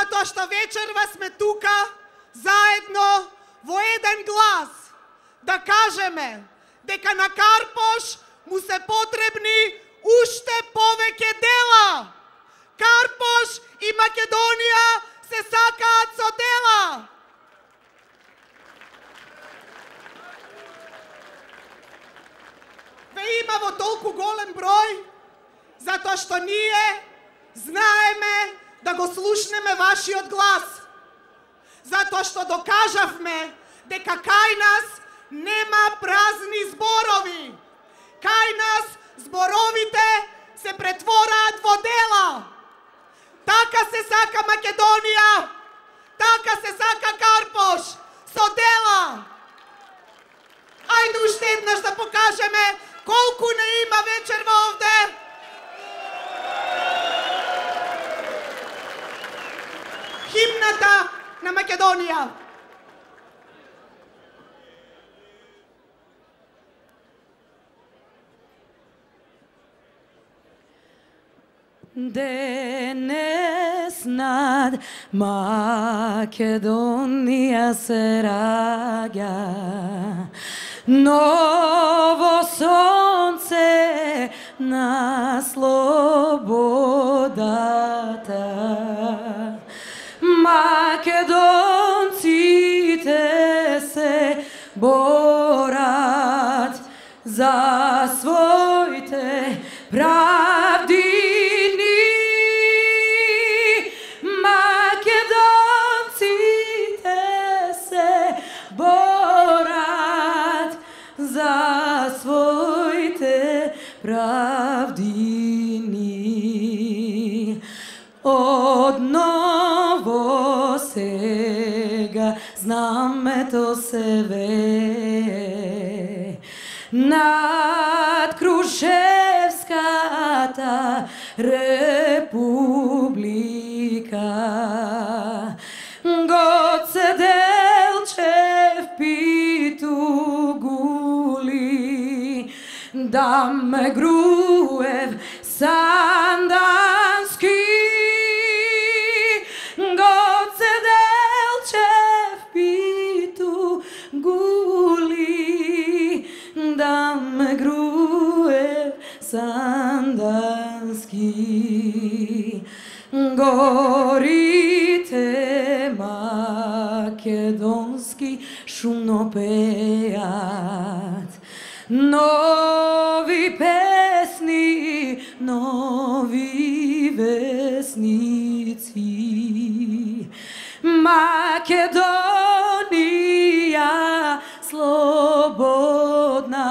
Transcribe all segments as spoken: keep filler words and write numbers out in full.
затоа што вечерва сме тука заедно во еден глас да кажеме дека на Карпош му се потребни уште повеќе дела. Карпош и Македонија се сакаат со дела. Ве има во толку голем број, затоа што ние знаеме да го слушнеме вашиот глас. Затоа што докажавме дека кај нас нема празни зборови. Кај нас зборовите се претвораат во дела. Така се сака Македонија, така се сака Карпош, со дела. Ајде уште еднаш да покажеме колку не има вечерва овде. Химната на Македонија. Денес над Македонија се раѓа ново сонце на слободата. Македонците се борат за своите правди. Правдини одново сега знамето се вее над Крушевската република. Гоце Делчев Питугули, Даме Груев Сандански, Гоце Делчев Питугули, Даме Груев Сандански. Горите македонски шумно пеат нови песни, нови весници. Македонија слободна,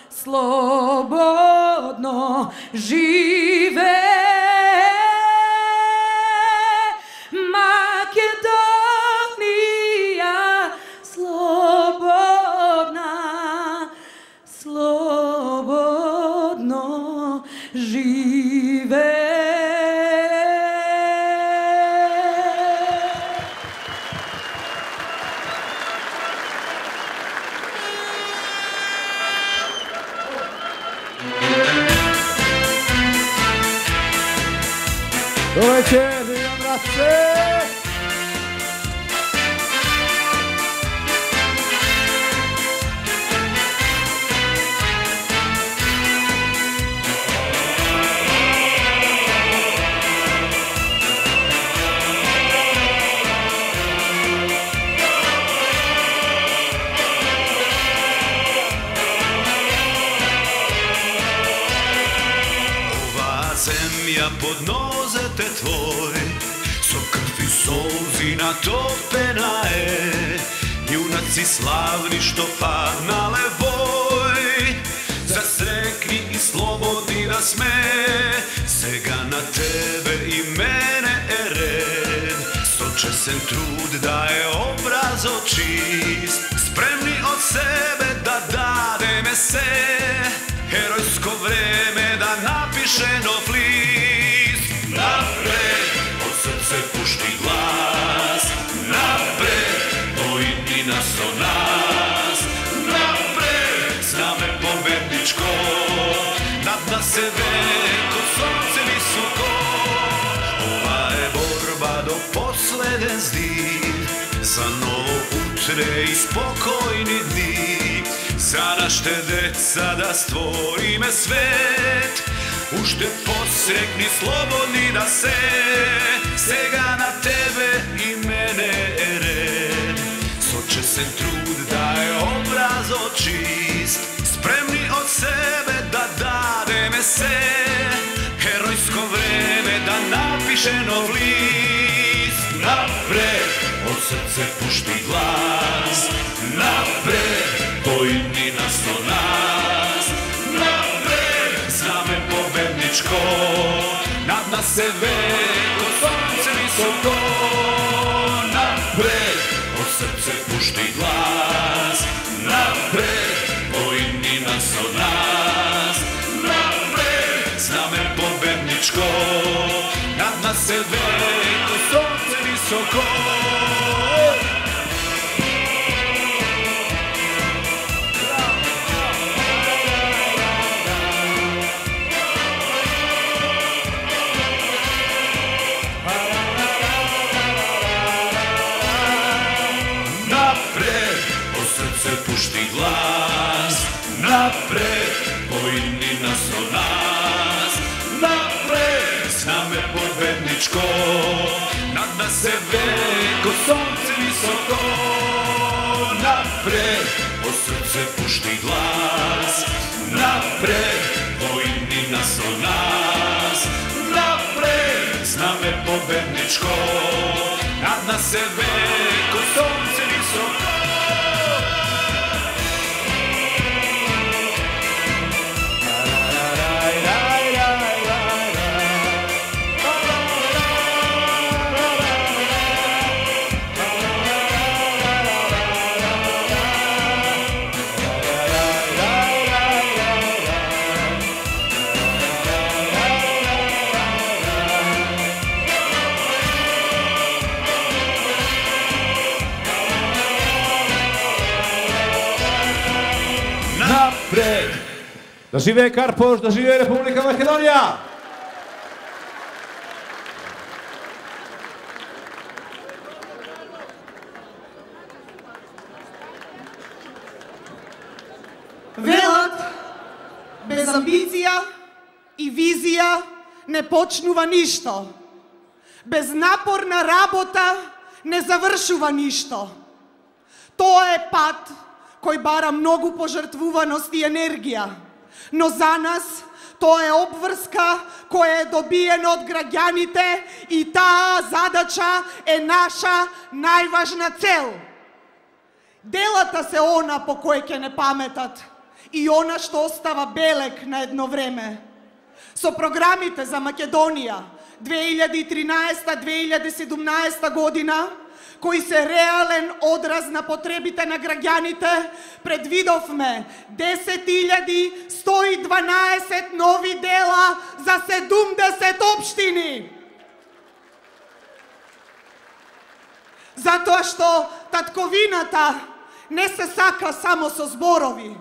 слободно живе. Македонија слободна, слободно живе. Добре вечер, Вилјам Раце! Земја под нозете твој, со крв и солзи натопена е, јунаци славни што паднале вој, засрекни и слободни да сме, сега на тебе и мене е ред, со чесен труд да е образот чист, спремни од себе да дадеме се, heroјско време да напише нов лист. Напред, од срце пушти глас, напред, војнина со нас, напред, знаме победничко, над нас е веко сонце високо. Ова е борба do posleden zdih, za novo utre i spokojni dni, za našte deca da stvorime svet, ušte posrekni slobodni da se, sega na tebe i mene je red. Sočesen trud da je obraz očist, spremni od sebe da dademe se, herojsko vreme da napiše nov list. Napred, od srce pušti glas, napred, pojmi nas o nas, napred, zname pobedničko, nad nas se veko sonce visoko. Napred, od srce pušti glas, napred, pojmi nas o nas, napred, zname pobedničko, nad nas se veko sonce visoko. Napred, od srce pušti glas, napred, pojmi nas o nas, napred, zname pobedničko, nad nas se veko sonce visoko. Napred, od srce pušti glas, napred, pojmi nas o nas, napred, zname pobedničko, nad nas se veko sonce visoko. Napred! Da живее Карпош, да живее Република Македонија! Велат, без амбиција и визија не почнува ништо. Без напорна работа не завршува ништо. Тоа е пат кој бара многу пожртвуваност и енергија, но за нас тоа е обврска која е добиена од граѓаните и таа задача е наша најважна цел. Делата се она по кој ќе не паметат и она што остава белек на едно време. Со програмите за Македонија две илјади и тринаесета - две илјади и седумнаесета година, кои се реален одраз на потребите на граѓаните, предвидовме десет илјади сто и дванаесет нови дела за седумдесет општини. Затоа што татковината не се сака само со зборови.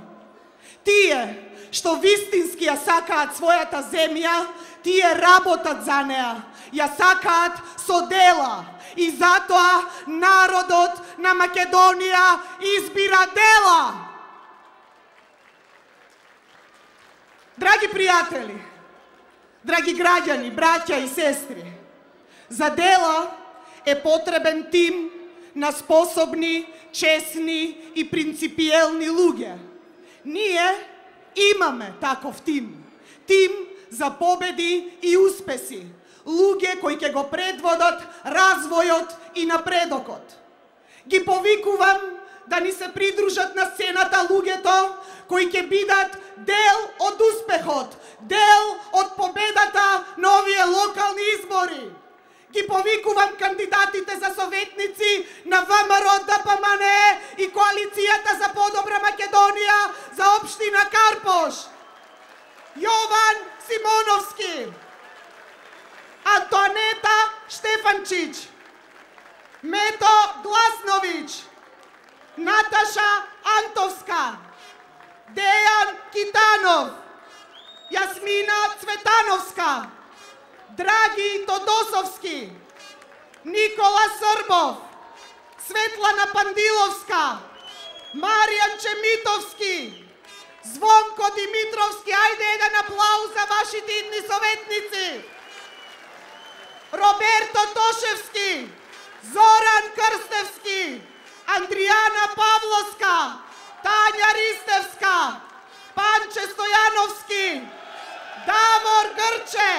Тие што вистински ја сакаат својата земја, тие работат за неа, ја сакаат со дела. И затоа народот на Македонија избира дела. Драги пријатели, драги граѓани, браќа и сестри, за дела е потребен тим на способни, чесни и принципиелни луѓе. Ние имаме таков тим. Тим за победи и успеси. Луѓе кои ќе го предводат развојот и напредокот. Ги повикувам да ни се придружат на сцената луѓето кои ќе бидат дел од успехот, дел од победата на овие локални избори. Ги повикувам кандидатите за советници на ВМРО, ДПМН и Коалицијата за подобра Македонија за општина Карпош. Јован Симоновски, Антонета Штефанчич, Мето Гласнович, Наташа Антовска, Дејан Китанов, Јасмина Цветановска, Драги Тодосовски, Никола Србов, Светлана Пандиловска, Маријан Чемитовски, Звонко Димитровски, ајде еден аплауз за вашите идни советници. Роберто Тошевски, Зоран Крстевски, Андријана Павловска, Тања Ристевска, Панче Стојановски, Давор Грче,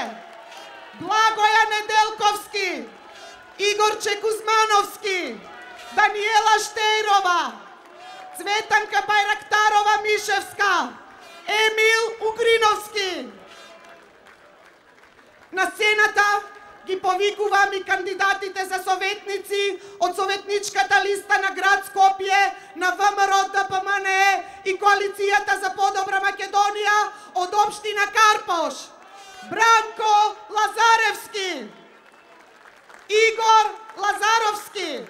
Благоја Неделковски, Игорче Кузмановски, Даниела Штејрова, Цветанка Байрактарова Мишевска, Емил Угриновски. На сцената ги повикувам и кандидатите за советници од советничката листа на град Скопје, на ВМРО Д П М Н Е и Коалицијата за подобра Македонија од општина Карпош. Бранко Лазаревски, Игор Лазаровски,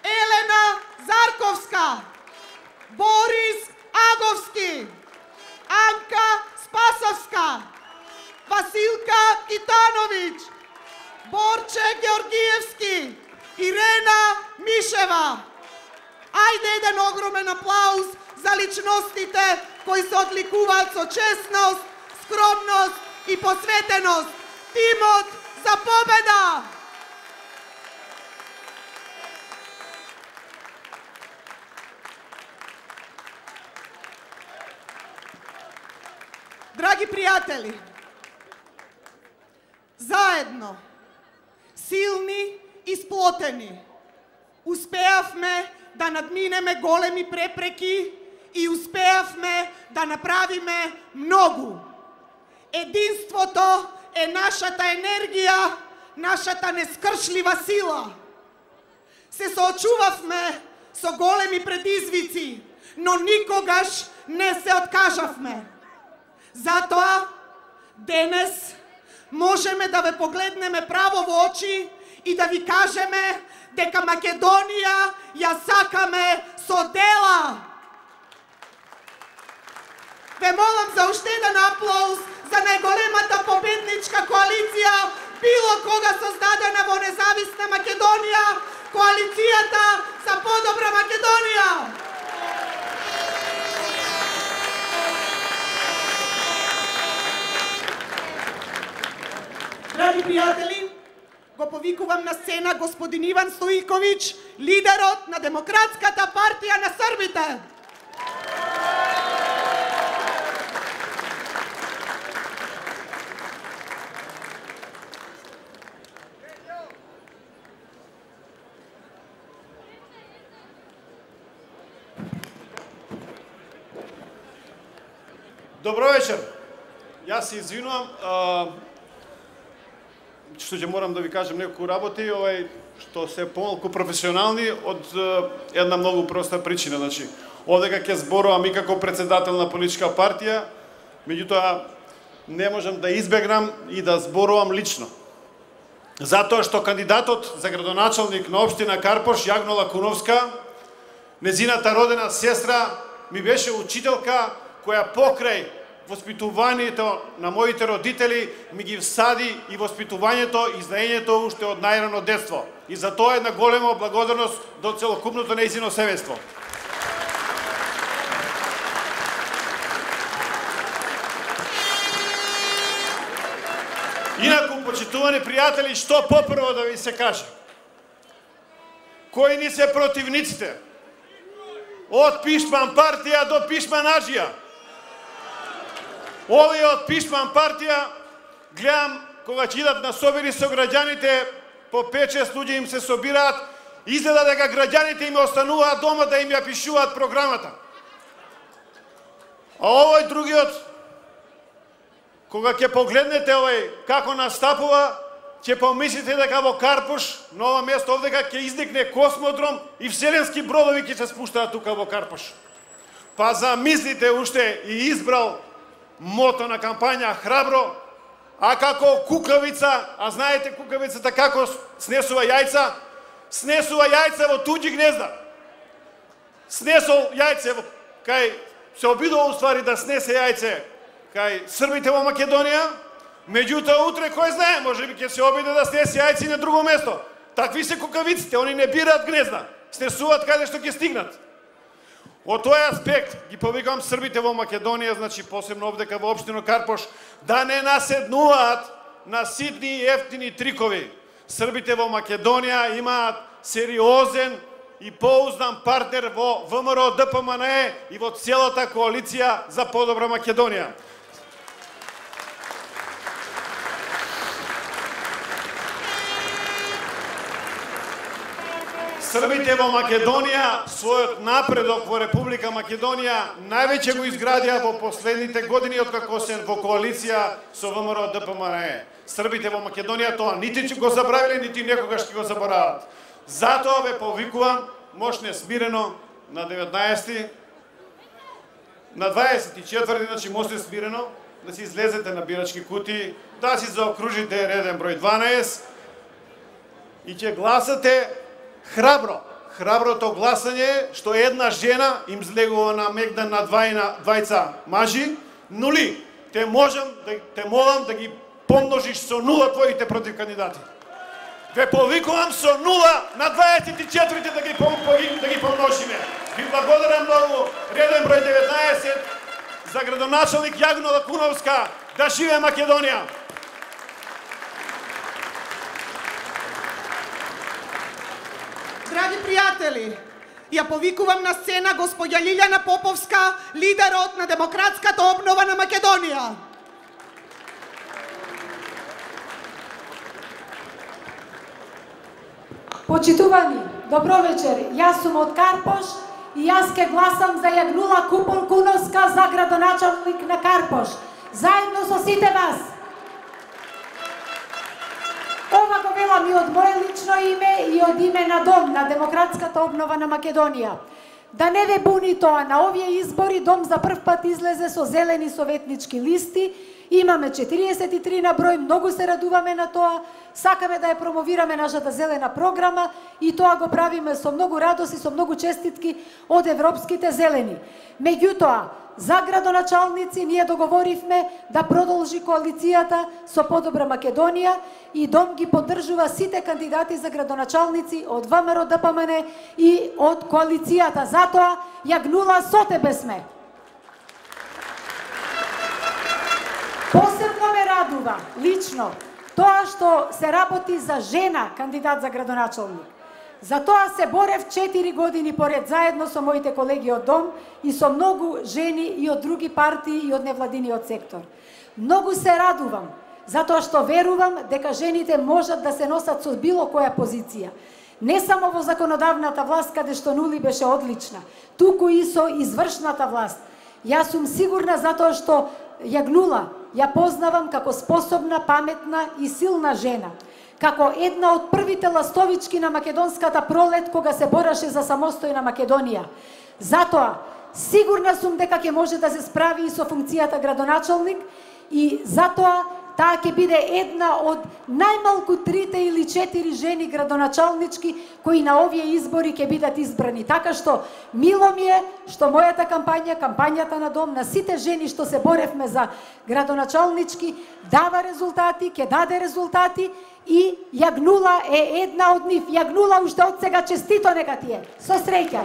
Елена Зарковска, Борис Аговски, Анка Спасовска, Василка Китановиќ, Борче Георгиевски, Ирена Мишева. Ајде еден огромен аплауз за личностите кои се одликуваат со честност, скромност и посветеност. Тимот за победа! Драги пријатели, заедно, силни и сплотени, успеавме да надминеме големи препреки и успеавме да направиме многу. Единството е нашата енергија, нашата нескршлива сила. Се соочувавме со големи предизвици, но никогаш не се откажавме. Затоа, денес можеме да ве погледнеме право во очи и да ви кажеме дека Македонија ја сакаме со дела. Ве молам за уште еден аплауз за најголемата победничка коалиција било кога создадена во независна Македонија, Коалицијата за подобра Македонија. Драги пријатели, го повикувам на сцена господин Иван Стоиковиќ, лидерот на Демократската партија на Србите. Добро вечер. Јас се извинувам што ќе морам да ви кажам неколку работи, овај што се помалку професионални од една многу проста причина. Значи, овдека ќе зборувам и како председател на политичка партија, меѓутоа не можам да избегнам и да зборувам лично. Затоа што кандидатот за градоначалник на општина Карпош, Јагнола Куновска, незината родена сестра, ми беше учителка која покрај воспитувањето на моите родители ми ги всади и воспитувањето и знаењето уште од најрано детство. И за тоа една голема благодарност до целокупното нејзино семејство. Инаку, почитувани пријатели, што попрво да ви се каже? Кои ни се противниците? Од Пишман партија до Пишман аджија. Овие од Пишман партија, гледам, кога ќе идат на собери со граѓаните, по пет-шест луѓе им се собираат, изгледа дека граѓаните им остануваат дома да им ја пишуваат програмата. А овој другиот, кога ќе погледнете овој како настапува, ќе помислите дека во Карпош, на ова место овдека, ќе изникне космодром и вселенски бродови ќе се спуштаат тука во Карпош. Па замислите уште и избрал мото на кампања храбро, а како кукавица, а знаете кукавицата како снесува јајца, снесува јајца во туѓи гнезда. Снесол јајце во кај се обидува уствари да снесе јајце кај србите во Македонија, меѓутоа утре кој знае, можеби ќе се обиде да снесе јајци на друго место. Такви се кукавиците, они не бираат гнезда, стресуваат каде што ќе стигнат. Од тој аспект ги повикам србите во Македонија, значи посебно овдека во општина Карпош, да не наседнуваат на ситни и ефтини трикови. Србите во Македонија имаат сериозен и поуздан партнер во ВМРО Д П М Н Е и во целата коалиција за подобра Македонија. Србите во Македонија својот напредок во Република Македонија највеќе го изградија во последните години откако се во коалиција со ВМРО Д П М Н Е. Србите во Македонија тоа нити ќе го забравиле, нити некогаш ќе го заборават. Затоа ве повикувам мошне смирено на деветнаесети, на дваесет и четврти, значи мошне смирено да си излезете на бирачки кутии, да си заокружите реден број дванаесет и ќе гласате храбро. Храброто гласање што една жена им злегува на Мегдан на двајца мажи, нули. Те можам да те молам да ги помножиш со нула твоите против кандидати. Ве повикувам со нула на дваесет и четврти да ги да ги помножиме. Ви благодарам многу. Реден број деветнаесет за градоначалник Јагнула Куновска. Да живее Македонија. Драги пријатели, ја повикувам на сцена господја Лилјана Поповска, лидерот на демократската обнова на Македонија. Почитувани, добро вечер. Јас сум од Карпош и јас ке гласам за Јагнула Купон Куновска за градоначалник на Карпош. Заедно со сите вас. Ова го велам и од моје лично име и од име на Дом на демократската обнова на Македонија. Да не ве буни тоа, на овие избори Дом за прв пат излезе со зелени советнички листи. Имаме четириесет и три на број, многу се радуваме на тоа. Сакаме да ја промовираме нашата зелена програма и тоа го правиме со многу радост и со многу честитки од европските зелени. Меѓутоа, за градоначалници ние договоривме да продолжи коалицијата со Подобра Македонија и Дом ги поддржува сите кандидати за градоначалници од ВМРО Д П М Н и од коалицијата. Затоа, Јагнула, со тебе сме. Посебно ме радува, лично, тоа што се работи за жена кандидат за градоначалник. За тоа се борев четири години поред заедно со моите колеги од Дом и со многу жени и од други партии и од невладиниот сектор. Многу се радувам, затоа што верувам дека жените можат да се носат со било која позиција. Не само во законодавната власт, каде што Нули беше одлична, туку и со извршната власт. Јас сум сигурна затоа што Јагнула ја познавам како способна, паметна и силна жена. Како една од првите ластовички на македонската пролет кога се бореше за самостојна Македонија. Затоа, сигурна сум дека ќе може да се справи и со функцијата градоначалник и затоа таа ќе биде една од најмалку трите или четири жени градоначалнички кои на овие избори ќе бидат избрани. Така што мило ми е што мојата кампања, кампањата на Дом, на сите жени што се боревме за градоначалнички, дава резултати, ќе даде резултати и Јагнула е една од нив. Јагнула, уште од сега честито нека ти е. Со среќа.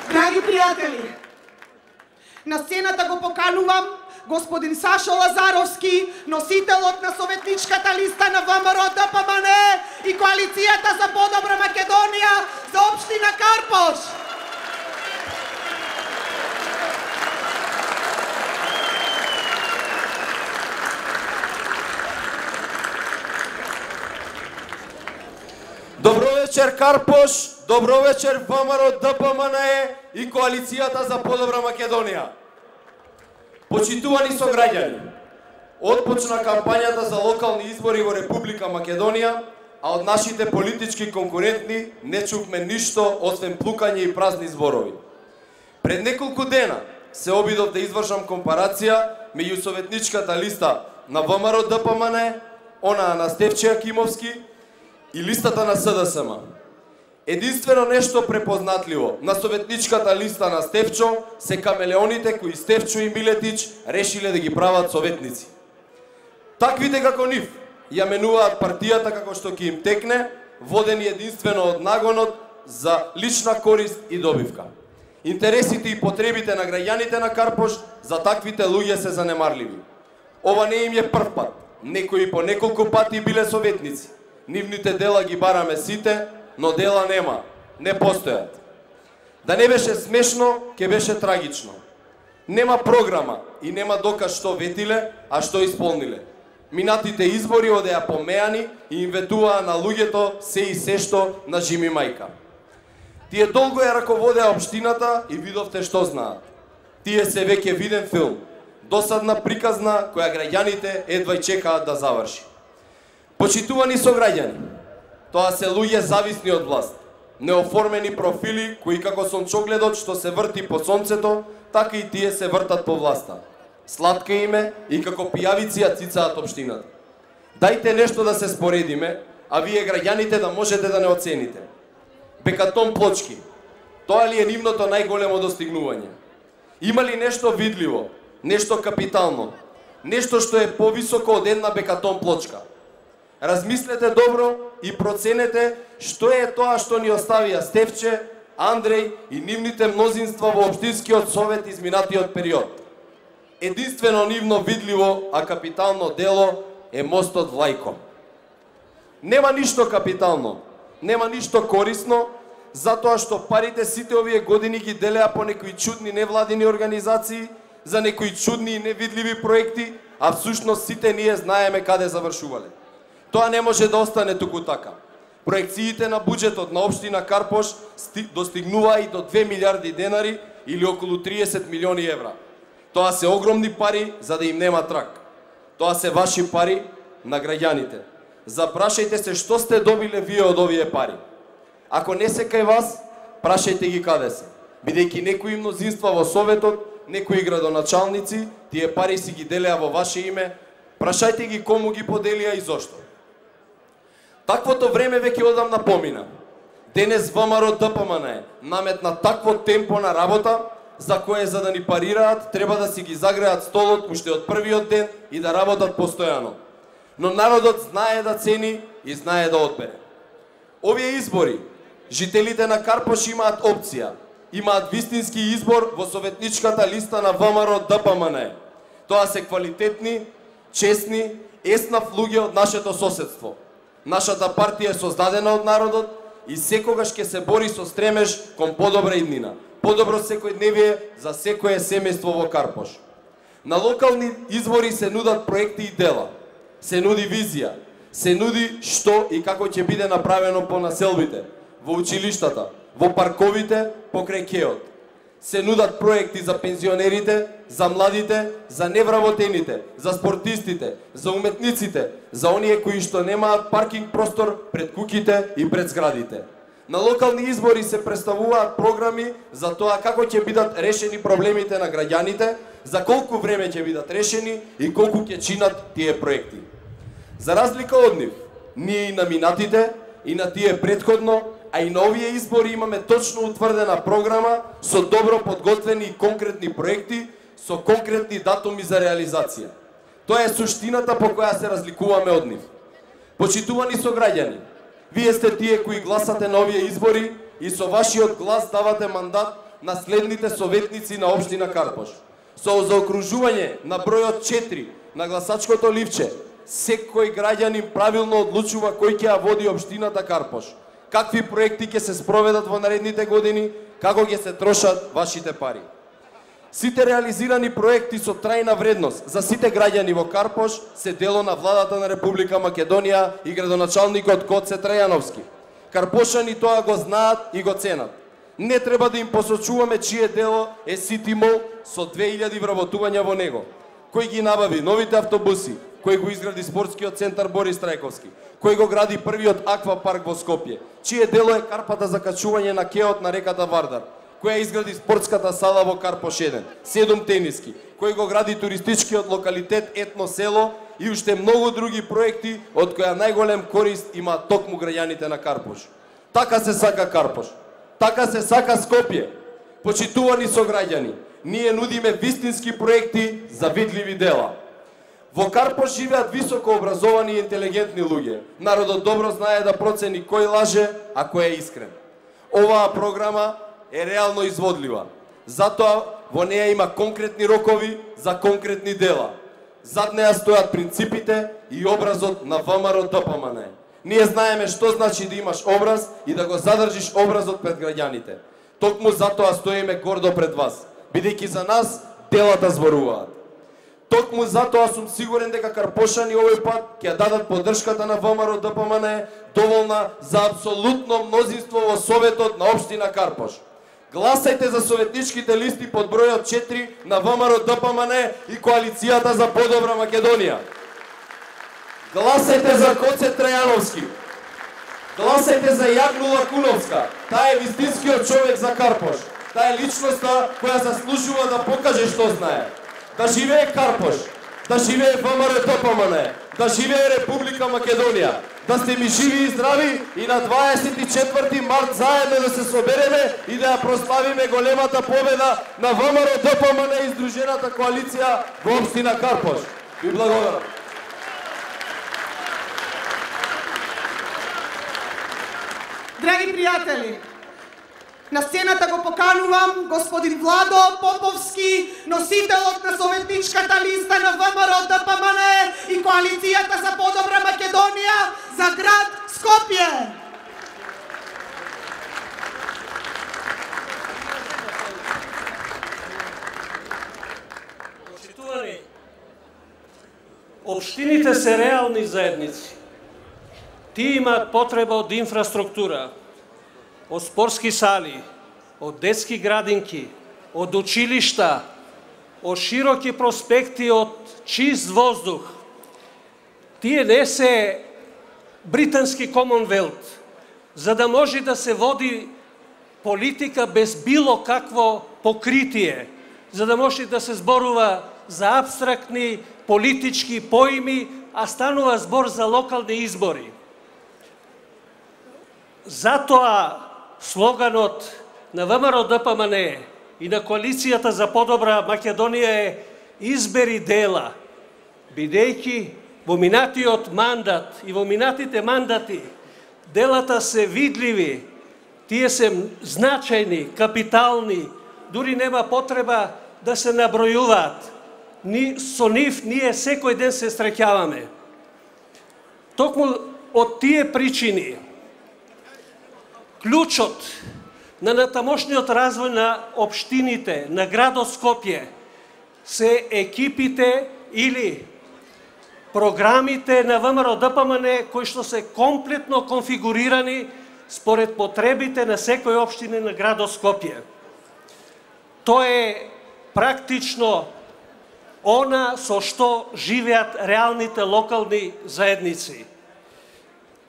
Драги пријатели, на сцената го поканувам господин Сашо Лазаровски, носителот на советничката листа на ВМРО Д П М Н Е и коалицијата за подобра Македонија за општина Карпош. Добро вечер Карпош, добро вечер ВМРО Д П М Н Е и коалицијата за подобра Македонија. Почитувани сограѓани, отпочна кампањата за локални избори во Република Македонија, а од нашите политички конкурентни не чувме ништо освен плукање и празни зборови. Пред неколку дена се обидов да извршам компарација меѓу советничката листа на ВМРО Д П М Н Е, она на Стефче Акимовски и листата на С Д С М. Единствено нешто препознатливо на советничката листа на Стефчо се камелеоните кои Стефчо и Милетич решиле да ги прават советници. Таквите како нив ја менуваат партијата како што ќе им текне, водени единствено од нагонот за лична корист и добивка. Интересите и потребите на граѓаните на Карпош за таквите луѓе се занемарливи. Ова не им е прв пат. Некои по неколку пати биле советници. Нивните дела ги бараме сите, но дела нема, не постојат. Да не беше смешно, ќе беше трагично. Нема програма и нема доказ што ветиле, а што исполниле. Минатите избори одеа помеани и им ветуваа на луѓето се и се што на Жими мајка. Тие долго ја раководеа општината и видовте што знаат. Тие се веќе виден филм, досадна приказна која граѓаните едва и чекаат да заврши. Почитувани сограѓани, тоа се луѓе зависни од власт, неоформени профили кои како сончогледот што се врти по сонцето, така и тие се вртат по власта. Сладка име и како пијавици ја цицаат општината. Дајте нешто да се споредиме, а вие граѓаните да можете да не оцените. Бекатон плочки, тоа ли е нивното најголемо достигнување? Има ли нешто видливо, нешто капитално, нешто што е повисоко од една бекатон плочка? Размислете добро и проценете што е тоа што ни оставија Стефче, Андреј и нивните мнозинства во општинскиот совет изминатиот период. Единствено нивно видливо, а капитално дело е мостот Влајко. Нема ништо капитално, нема ништо корисно, затоа што парите сите овие години ги делеа по некои чудни невладини организации, за некои чудни и невидливи проекти, а всушност сите ние знаеме каде завршувале. Тоа не може да остане туку така. Проекциите на буџетот на општина Карпош достигнуваа и до две милиарди денари или околу триесет милиони евра. Тоа се огромни пари за да им нема трак. Тоа се ваши пари на граѓаните. Запрашајте се што сте добиле вие од овие пари. Ако не се кај вас, прашајте ги каде се. Бидејќи некои мнозинства во советот, некои градоначалници, тие пари си ги делеа во ваше име, прашајте ги кому ги поделија и зошто. Таквото време веќе одамна помина. Денес ВМРО Д П М Н наметна такво темпо на работа, за кое за да ни парираат, треба да си ги загреат столот уште од првиот ден и да работат постојано. Но народот знае да цени и знае да одбере. Овие избори, жителите на Карпош имаат опција, имаат вистински избор во советничката листа на ВМРО Д П М Н. Тоа се квалитетни, честни, еснав луѓе од нашето соседство. Нашата партија е создадена од народот и секогаш ќе се бори со стремеж кон подобра иднина, подобро секојдневие за секое семејство во Карпош. На локални избори се нудат проекти и дела, се нуди визија, се нуди што и како ќе биде направено по населбите, во училиштата, во парковите, покрај кеот. Се нудат проекти за пензионерите, за младите, за невработените, за спортистите, за уметниците, за оние кои што немаат паркинг простор пред куќите и пред зградите. На локални избори се представуваат програми за тоа како ќе бидат решени проблемите на граѓаните, за колку време ќе бидат решени и колку ќе чинат тие проекти. За разлика од нив, ние и на минатите, и на тие предходно, а и на овие избори имаме точно утврдена програма со добро подготвени и конкретни проекти, со конкретни датуми за реализација. Тоа е суштината по која се разликуваме од нив. Почитувани сограѓани, вие сте тие кои гласате на овие избори и со вашиот глас давате мандат на следните советници на општина Карпош. Со заокружување на бројот четири на гласачкото ливче, секој граѓанин правилно одлучува кој ќе ја води општината Карпош, какви проекти ќе се спроведат во наредните години, како ќе се трошат вашите пари. Сите реализирани проекти со трајна вредност за сите граѓани во Карпош се дело на владата на Република Македонија и градоначалникот Гоце Трајановски. Карпошани тоа го знаат и го ценат. Не треба да им посочуваме чие дело е Сити Мол со две илјади вработувања во него. Кој ги набави новите автобуси, кој го изгради спортскиот центар Борис Трајковски, кој го гради првиот аквапарк во Скопје, чие дело е карпата за качување на кеот на реката Вардар, која изгради спортската сала во Карпош еден, седум тениски, кој го гради туристичкиот локалитет Етно село и уште многу други проекти од која најголем корист има токму граѓаните на Карпош. Така се сака Карпош, така се сака Скопје. Почитувани сограѓани, ние нудиме вистински проекти за видливи дела. Во Карпош живеат високо образовани и интелигентни луѓе. Народот добро знае да процени кој лаже, а кој е искрен. Оваа програма е реално изводлива. Затоа во неја има конкретни рокови за конкретни дела. Зад неја стојат принципите и образот на ВМРО Д П М Н. Ние знаеме што значи да имаш образ и да го задржиш образот пред граѓаните. Токму затоа стоиме гордо пред вас, бидејќи за нас делата зборуваат. Токму затоа сум сигурен дека карпошани овој пат ќе дадат поддршката на ВМРО Д П М Н доволна за апсолутно мнозинство во Советот на општина Карпош. Гласајте за советничките листи под бројот четири на ВМРО Д П М Н и Коалицијата за подобра Македонија. Гласајте за Коце Трајановски. Гласајте за Јагнула Куновска. Таа е вистинскиот човек за Карпош. Таа е личноста која заслужува да покаже што знае. Да живее Карпош, да живее ВМРО Д П М Н, да живее Република Македонија. Да сте ми живи и здрави и на дваесет и четврти март заедно да се собереме и да ја прославиме големата победа на ВМРО Д П М Н и Сдружената коалиција во општина Карпош. Ви благодарам. Драги пријатели, на сцената го поканувам господин Владо Поповски, носителот на советничката листа на ВМРО Д П М Н и Коалицијата за подобра Македонија за град Скопје. Почитувани, општините се реални заедници. Тие имаат потреба од инфраструктура, од спортски сали, од детски градинки, од училишта, од широки проспекти, од чист воздух. Тие не се британски Комонвелт, за да може да се води политика без било какво покритие, за да може да се зборува за абстрактни политички поими, а станува збор за локални избори. Затоа слоганот на ВМРО Д П М Н и на Коалицијата за подобра Македонија е избери дела, бидејќи во минатиот мандат и во минатите мандати делата се видливи, тие се значајни, капитални, дури нема потреба да се набројуваат. Ни, со нив ние секој ден се среќаваме. Токму од тие причини, клучот на натамошниот развој на општините, на градот Скопје, се екипите или програмите на ВМРО Д П М Н кои што се комплетно конфигурирани според потребите на секој општина на градот Скопје. Тоа е практично она со што живеат реалните локални заедници.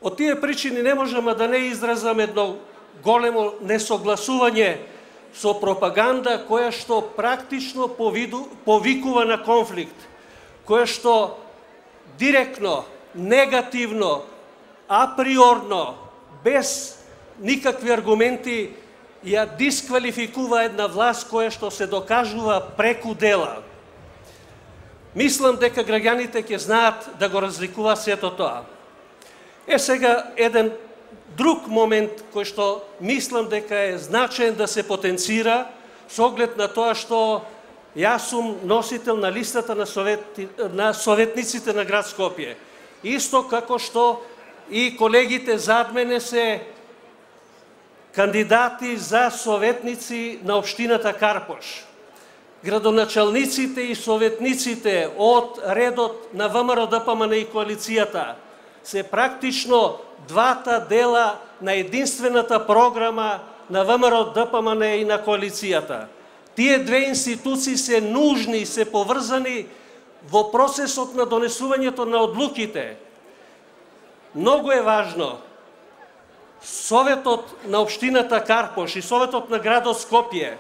Од тие причини не можеме да не изразам едно големо несогласување со пропаганда која што практично повиду, повикува на конфликт, која што директно, негативно, априорно, без никакви аргументи ја дисквалификува една власт која што се докажува преку дела. Мислам дека граѓаните ќе знаат да го разликуваат сето тоа. Е сега еден друг момент кој што мислам дека е значаен да се потенцира со оглед на тоа што јас сум носител на листата на, совет, на советниците на град Скопје. Исто како што и колегите зад мене се кандидати за советници на општината Карпош. Градоначалниците и советниците од редот на ВМРО Д П М Н и Коалицијата се практично двата дела на единствената програма на ВМРО Д П М Н и на Коалицијата. Тие две институции се нужни, се поврзани во процесот на донесувањето на одлуките. Многу е важно Советот на општината Карпош и Советот на градот Скопје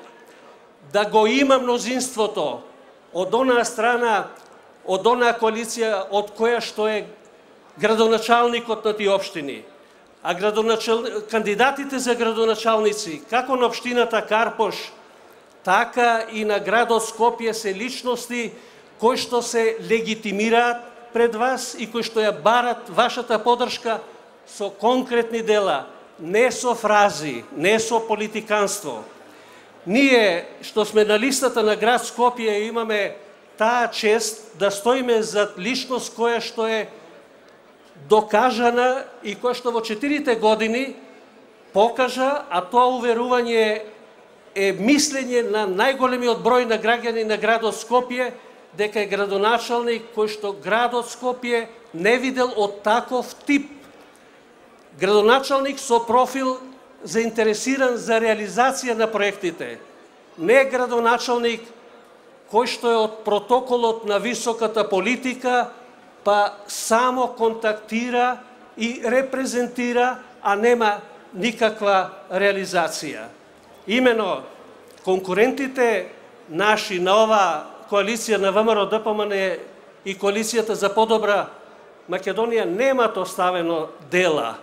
да го има мнозинството од онаа страна, од онаа коалиција од која што е градоначалникот на тие општини. А градоначал... кандидатите за градоначалници, како на општината Карпош, така и на градот Скопје се личности кои што се легитимираат пред вас и кои што ја барат вашата поддршка со конкретни дела, не со фрази, не со политиканство. Ние што сме на листата на град Скопје имаме таа чест да стоиме зад личност која што е докажана и која што во четирите години покажа, а тоа уверување е мислење на најголемиот број на граѓани на градот Скопје, дека е градоначалник кој што градот Скопје не видел од таков тип. Градоначалник со профил заинтересиран за реализација на проектите. Не градоначалник кој што е од протоколот на високата политика, па само контактира и репрезентира, а нема никаква реализација. Имено, конкурентите наши на ова коалиција на ВМРО Д П М Н и коалицијата за подобра Македонија немат оставено дела.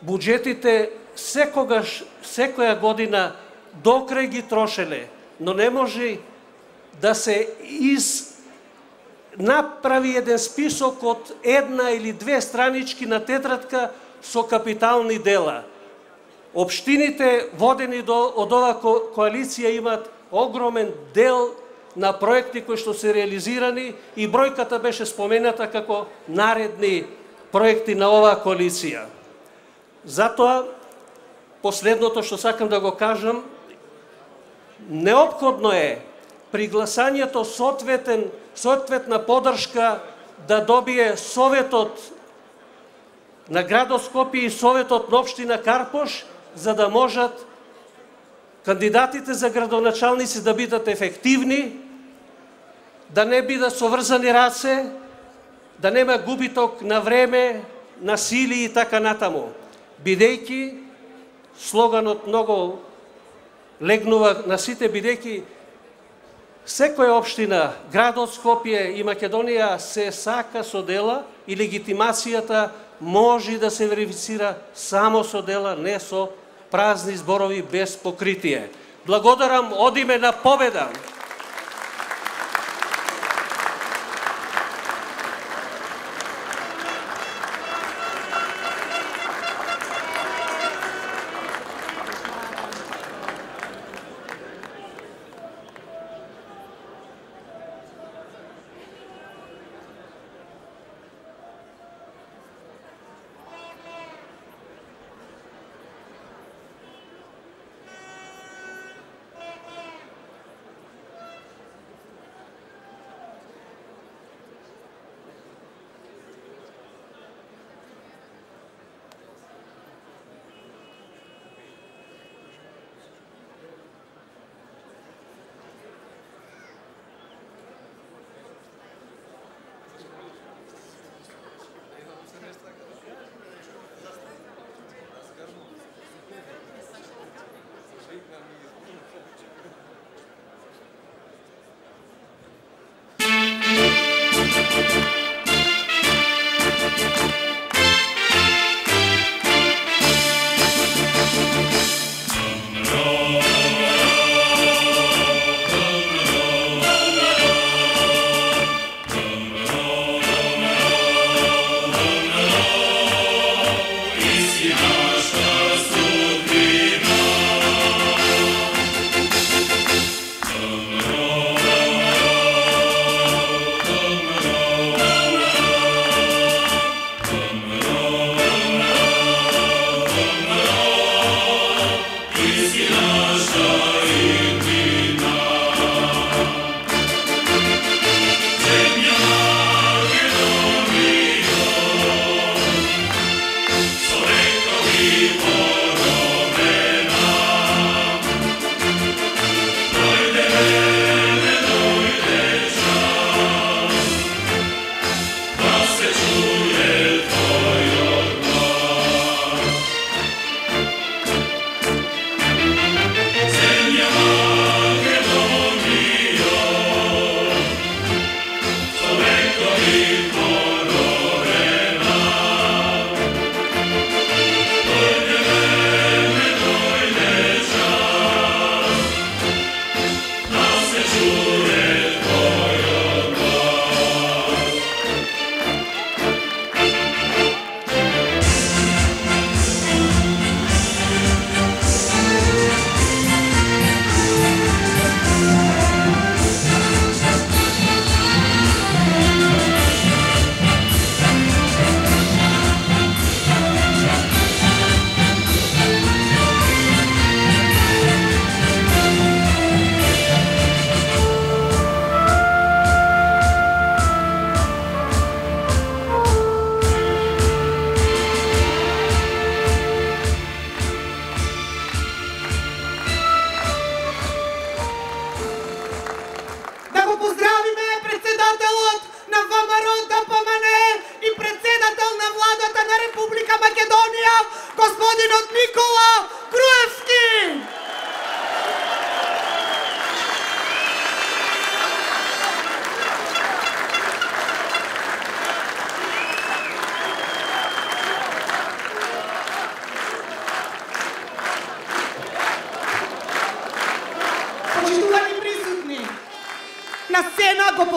Буџетите секогаш, секоја година докрај ги трошеле, но не може да се из направи еден список од една или две странички на тетрадка со капитални дела. Општините водени до, од ова коалиција имат огромен дел на проекти кои што се реализирани и бројката беше спомената како наредни проекти на оваа коалиција. Затоа, последното што сакам да го кажам, неопходно е при гласањето соодветен, соодветна поддршка да добие Советот на градот Скопје и Советот на општина Карпош, за да можат кандидатите за градоначалници да бидат ефективни, да не бидат соврзани раце, да нема губиток на време, на сили и така натаму. Бидејќи, слоганот многу легнува на сите, бидејќи секоја општина, градот Скопје и Македонија се сака со дела и легитимацијата може да се верифицира само со дела, не со празни зборови без покритие. Благодарам, одиме на победа!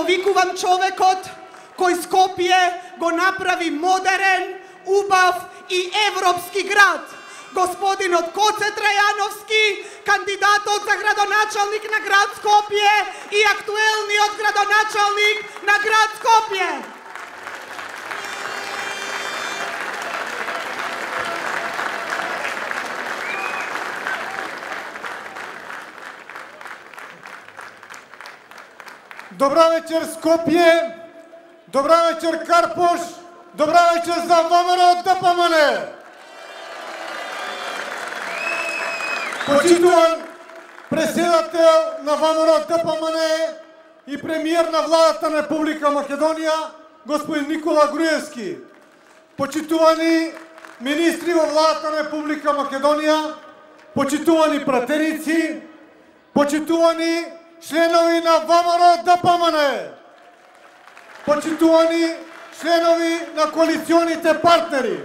го викувам човекот кој Скопје го направи модерен, убав и европски град. Господинот Коце Трајановски, кандидатот за градоначалник на град Скопје и актуелниот градоначалник на град Скопје. Добра вечер Скопје, добра вечер Карпош, добра вечер за ВМРО ДПМН. Почитуван преседател на ВМРО ДПМН и премиер на владата на Република Македонија, господин Никола Груевски. Почитувани министри во владата на Република Македонија, почитувани пратеници, почитувани членови на ВМРО ДПМН, почитувани членови на коалиционите партнери,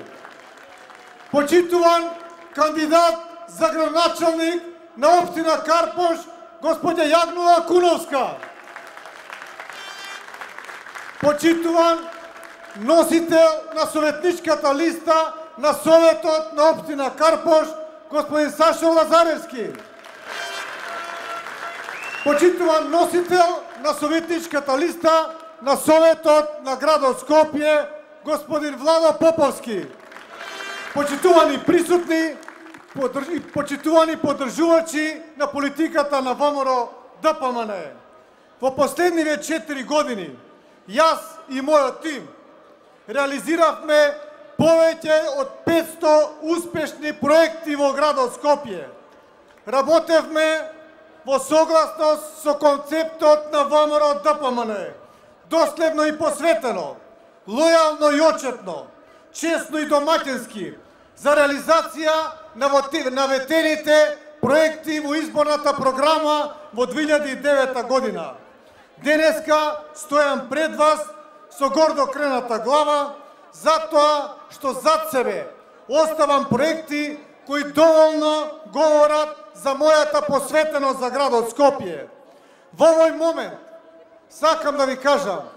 почитуван кандидат за градоначалник на општина Карпош, господја Јагнова Куновска, почитуван носител на советничката листа на Советот на општина Карпош, господин Сашо Лазаревски, почитуван носител на советничката листа на Советот на градот Скопје, господин Владо Поповски, почитувани присутни и почитувани поддржувачи на политиката на ВМРО ДПМН. Во последниве четири години, јас и мојот тим реализиравме повеќе од петсто успешни проекти во градот Скопје. Работевме во согласност со концептот на ВМРО ДПМН, доследно и посветено, лојално и очетно, честно и домаќински, за реализација на наветените проекти во изборната програма во две илјади и девета година. Денеска стојам пред вас со гордо крената глава, затоа што зад себе оставам проекти кои доволно говорат за мојата посветеност за градот Скопје. Во овој момент сакам да ви кажам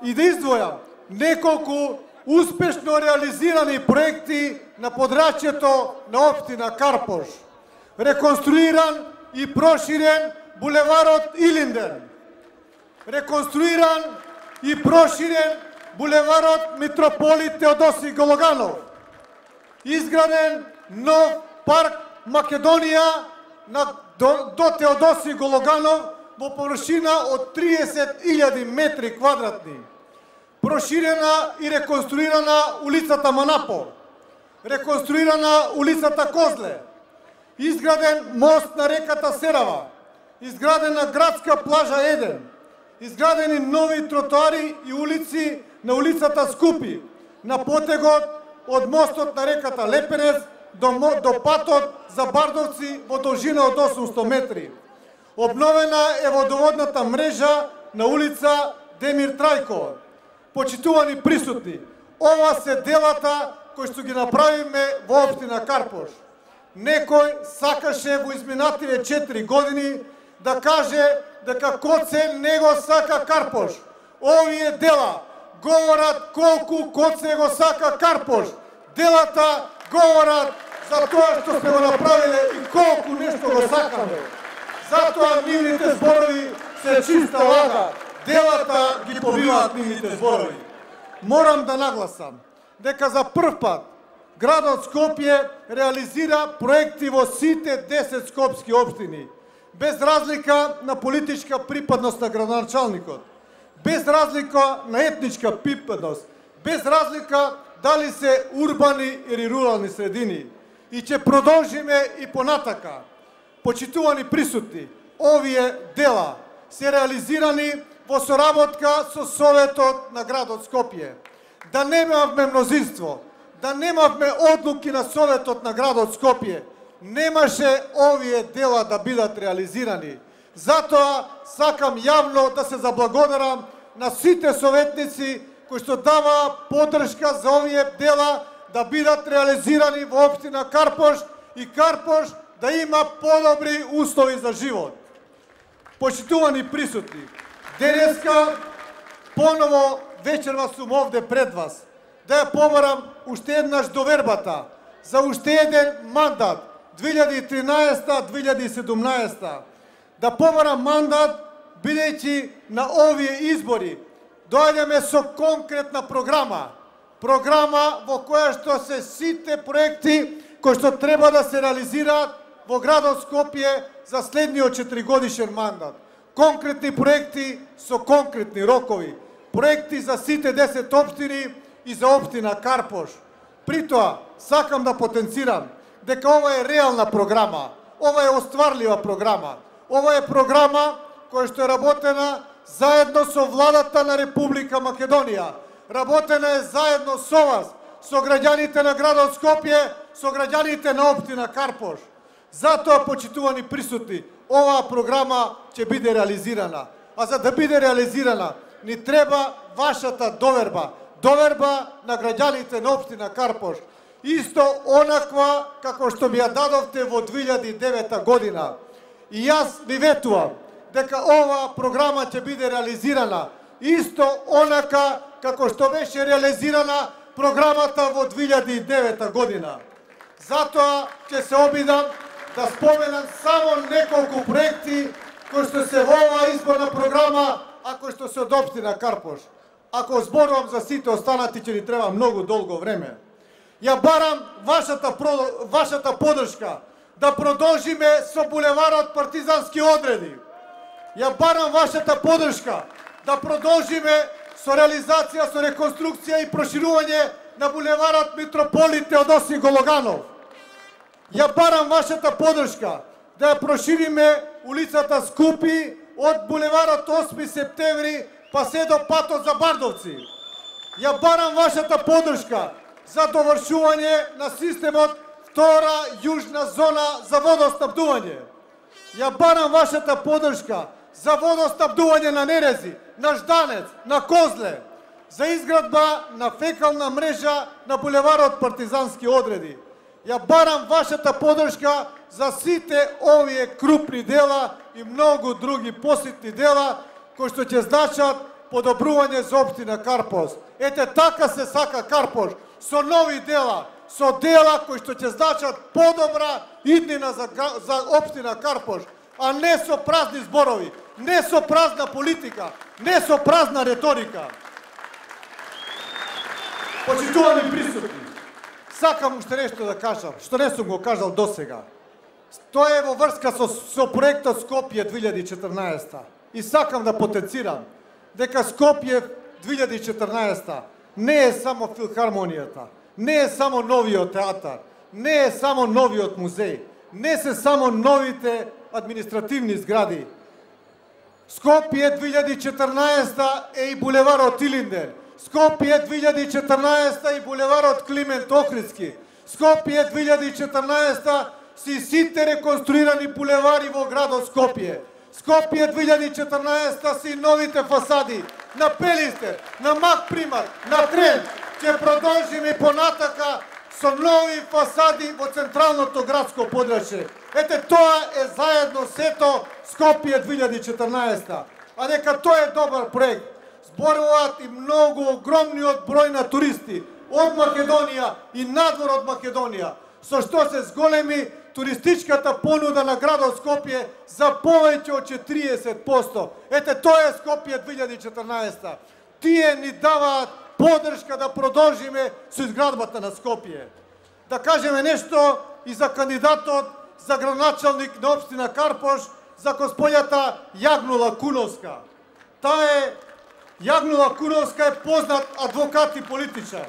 и да издвојам неколку успешно реализирани проекти на подрачјето на општина Карпош. Реконструиран и проширен булеварот Илинден. Реконструиран и проширен булеварот Митрополит Теодоси Гологанов. Изграден нов парк Македонија на, до, до Теодоси Гологанов во површина од триесет илјади метри квадратни. Проширена и реконструирана улицата Манапо. Реконструирана улицата Козле. Изграден мост на реката Серава. Изградена градска плажа Еден. Изградени нови тротоари и улици на улицата Скупи, на потегот од мостот на реката Лепенец до, до патот за Бардовци во должина од осумсто метри. Обновена е водоводната мрежа на улица Демир Трајко. Почитувани присутни, ова се делата кои што ги направиме во општина Карпош. Некој сакаше во изминативе четири години да каже дека Коце не го сака Карпош. Овие дела говорат колку Коце го сака Карпош. Делата говорат за тоа што сме го направиле и колку нешто го сакаме. Затоа нивните зборови се чиста лага. Делата ги побиваат нивните зборови. Морам да нагласам дека за прв пат градот Скопје реализира проекти во сите десет скопски општини, без разлика на политичка припадност на градоначалникот, без разлика на етничка припадност, без разлика дали се урбани или рурални средини. И ќе продолжиме и понатака. Почитувани присутни, овие дела се реализирани во соработка со Советот на градот Скопје. Да немавме мнозинство, да немавме одлуки на Советот на градот Скопје, немаше овие дела да бидат реализирани. Затоа сакам јавно да се заблагодарам на сите советници кои што даваа поддршка за овие дела да бидат реализирани во општина Карпош и Карпош да има подобри услови за живот. Почитувани присутни, Денеска поново вечерва сум овде пред вас да ја побарам уште еднаш довербата за уште еден мандат две илјади и тринаесета до две илјади и седумнаесета. Да побарам мандат бидејќи на овие избори доаѓаме со конкретна програма. Програма во која што се сите проекти кои што треба да се реализираат во градот Скопје за следниот четиригодишен мандат. Конкретни проекти со конкретни рокови. Проекти за сите десет општини и за општина Карпош. При тоа, сакам да потенцирам дека ова е реална програма, ова е остварлива програма, ова е програма која што е работена заедно со владата на Република Македонија, работена е заедно со вас, со граѓаните на градот Скопје, со граѓаните на општина Карпош. Затоа, почитувани присутни, оваа програма ќе биде реализирана. А за да биде реализирана, ни треба вашата доверба, доверба на граѓаните на општина Карпош. Исто онаква како што ми ја дадовте во две илјади и девета година. И јас ви ветувам дека оваа програма ќе биде реализирана исто онака како што беше реализирана програмата во две илјади и девета година. Затоа ќе се обидам да споменам само неколку проекти кои што се во оваа изборна програма, а кои што се од општина Карпош. Ако зборувам за сите останати, ќе ни треба многу долго време. Ја барам вашата, вашата подршка да продолжиме со булеварот Партизански одреди. Ја барам вашата подршка да продолжиме со реализација, со реконструкција и проширување на булеварот Митрополит Теодосиј Гологанов. Ја барам вашата подршка да ја прошириме улицата Скупи од булеварот осми септември па се до патот за Бардовци. Ја барам вашата подршка за довршување на системот втора јужна зона за водоснабдување. Ја барам вашата подршка за водоснабдување на Нерези, на Жданец, на Козле, за изградба на фекална мрежа на булеварот Партизански одреди. Ја барам вашата подршка за сите овие крупни дела и многу други посетни дела кои што ќе значат подобрување за општина Карпош. Ете така се сака Карпош, со нови дела, со дела кои што ќе значат подобра иднина за, за општина Карпош, а не со празни зборови, не со празна политика, не со празна реторика. Почитувани присутни, сакам уште нешто да кажам, што не сум го кажал досега. Тоа е во врска со, со проектот Скопје две илјади и четрнаесета. И сакам да потенцирам дека Скопје две илјади и четрнаесета не е само филхармонијата, не е само новиот театар, не е само новиот музеј, не се само новите административни згради. Скопје две илјади и четрнаесета е и булеварот Илинден. Скопје две илјади и четрнаесета и булеварот Климент Охридски. Скопје две илјади и четрнаесета си сите реконструирани булевари во градот Скопје. Скопје две илјади и четрнаесета си новите фасади на Пелистер, на Мак Примат, на Трен. Ќе продолжиме понатака со нови фасади во централното градско подрачје. Ете, тоа е заедно сето Скопје две илјади и четрнаесета. А дека тоа е добар проект. Зборуваат и многу огромниот број на туристи од Македонија и надвор од Македонија, со што се зголеми туристичката понуда на градот Скопје за повеќе од четириесет проценти. Ете, тоа е Скопје две илјади и четрнаесета. Тие ни даваат подршка да продолжиме со изградбата на Скопје. Да кажеме нешто и за кандидатот за градоначалник на општина Карпош, за господјата Јагнула Куновска. Таа е Јагнула Куновска е познат адвокат и политичар,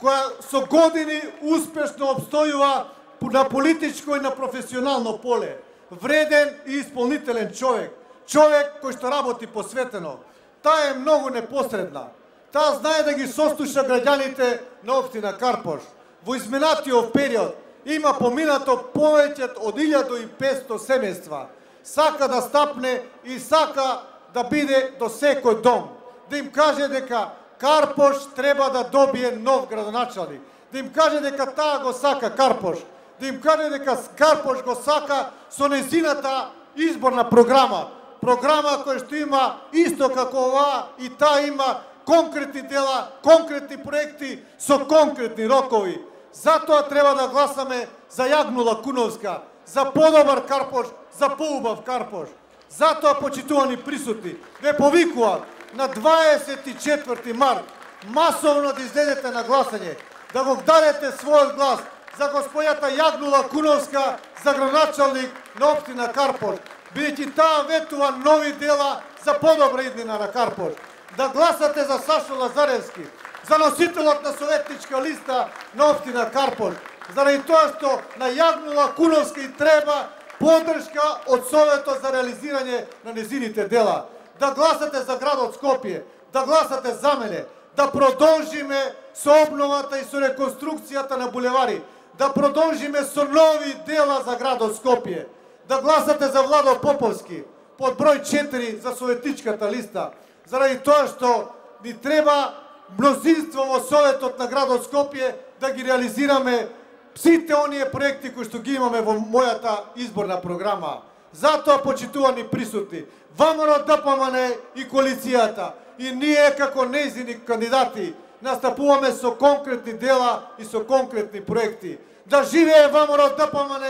која со години успешно обстојува на политичко и на професионално поле. Вреден и исполнителен човек. Човек кој што работи посветено. Таа е многу непосредна. Таа знае да ги сослуша граѓаните на општина Карпош. Во изминатиот период има поминато повеќе од илјада и петстотини семејства. Сака да стапне и сака да биде до секој дом. Да им каже дека Карпош треба да добие нов градоначалник. Да им каже дека таа го сака Карпош. Да им каже дека Карпош го сака со нејзината изборна програма. програма која што има исто како ова и таа има конкретни дела, конкретни проекти со конкретни рокови. Затоа треба да гласаме за Јагнула Куновска, за подобар Карпош, за поубав Карпош. Затоа, почитувани присутни, ве повикувам на дваесет и четврти март масовно да излезете на гласање, да го дадете својот глас за господјата Јагнула Куновска, за градоначалник на општина Карпош, бидејќи таа ветува нови дела за подобра иднина на Карпош. Да гласате за Сашо Лазаревски, за носителот на советничка листа на општина Карпош, заради тоа што на Јагнула Куновска и треба поддршка од Советот за реализирање на незините дела. Да гласате за градот Скопје, да гласате за мене, да продолжиме со обновата и со реконструкцијата на булевари, да продолжиме со нови дела за градот Скопје, да гласате за Владо Поповски под број четири за советничката листа, заради тоа што ни треба мнозинство во Советот на градот Скопје да ги реализираме сите оние проекти кои што ги имаме во мојата изборна програма. Затоа, почитувани присутни, ВМРО Д П М Н и коалицијата и ние како нејзини кандидати настапуваме со конкретни дела и со конкретни проекти. Да живее ВМРО Д П М Н,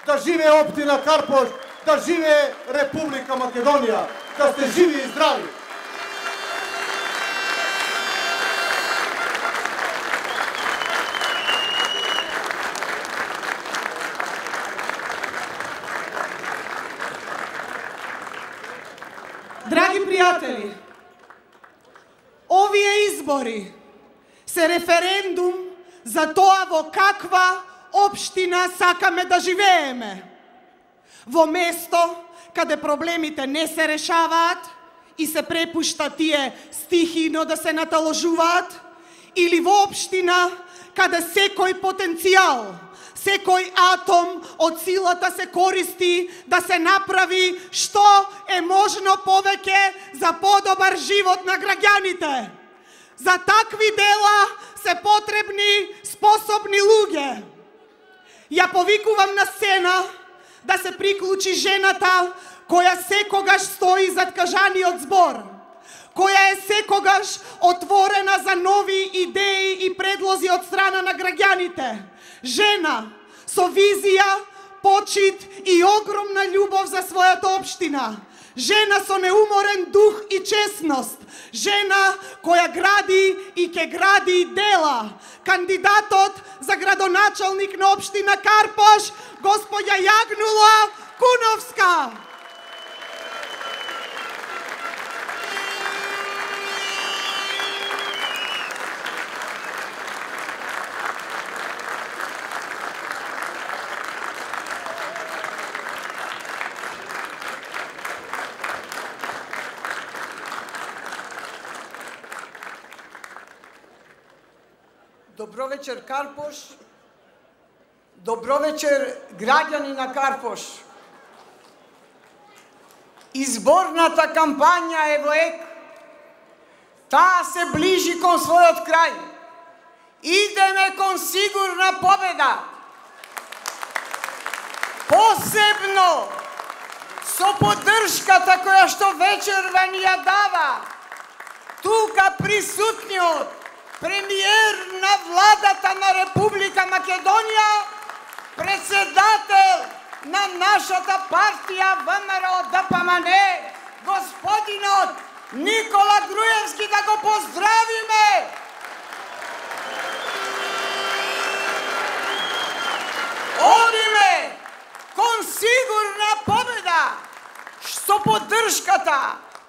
да живее општина Карпош, да живее Република Македонија, да сте живи и здрави. Драги пријатели, овие избори се референдум за тоа во каква општина сакаме да живееме. Во место каде проблемите не се решаваат и се препушта тие стихино да се наталожуваат, или во општина каде секој потенцијал, секој атом од силата се користи да се направи што е можно повеќе за подобар живот на граѓаните. За такви дела се потребни способни луѓе. Ја повикувам на сцена да се приклучи жената која секогаш стои зад кажаниот збор, која е секогаш отворена за нови идеи и предлози од страна на граѓаните. Жена со визија, почит и огромна љубов за својата општина. Жена со неуморен дух и честност. Жена која гради и ќе гради дела. Кандидатот за градоначалник на општина Карпош, господја Јагнула Куновска. Добро вечер, Карпош. Добро вечер, граѓани на Карпош. Изборната кампања е во ек. Таа се ближи кон својот крај. Идеме кон сигурна победа. Посебно со поддршката која што вечерва ни ја дава тука присутниот премиер на владата на Република Македонија, председател на нашата партија ВМРО Д П М Н, господинот Никола Груевски, да го поздравиме. Одиме кон сигурна победа со поддршката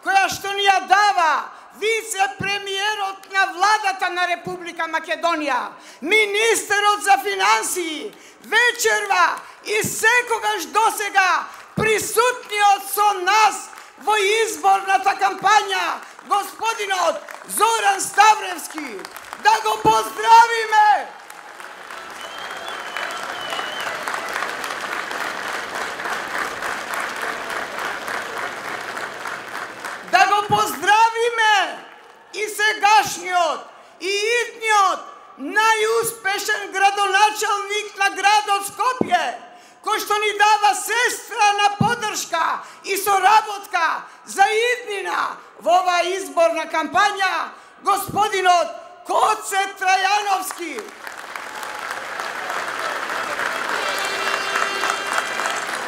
која што ни ја дава вице-премиерот на владата на Република Македонија, министерот за финансии, вечерва и секогаш досега присутниот со нас во изборната кампања, господинот Зоран Ставревски. Да го поздравиме! Да го поздравиме и сегашниот, и идниот најуспешен градоначалник на градот Скопје, кој кој што ни дава сестрана поддршка и соработка за иднина во оваа изборна кампања, господинот Гоце Трајановски.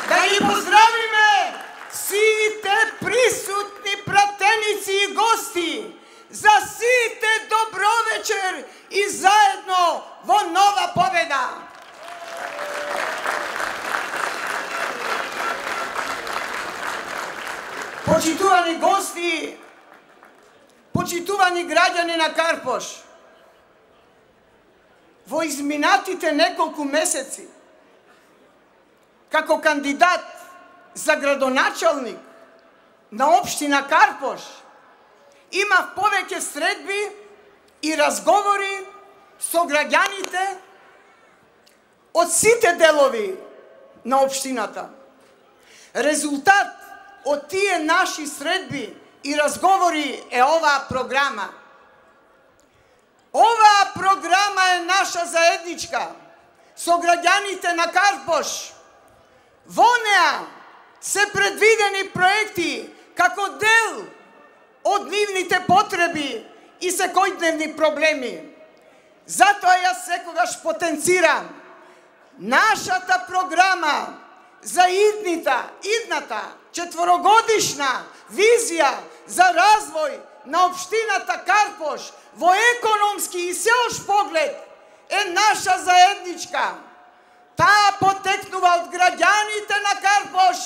Да ги поздравиме сите присутни пратеници и гости, за сите добро вечер и заедно во нова победа. Почитувани гости, почитувани граѓани на Карпош, во изминатите неколку месеци, како кандидат за градоначалник на општина Карпош, имав повеќе средби и разговори со граѓаните од сите делови на општината. Резултат од тие наши средби и разговори е оваа програма. Оваа програма е наша заедничка со граѓаните на Карпош. Во неа се предвидени проекти како дел од нивните потреби и секојдневни проблеми. Затоа јас секогаш потенцирам нашата програма за иднита, идната четворогодишна визија за развој на општината Карпош во економски и сеош поглед е наша заедничка. Таа потекнува од граѓаните на Карпош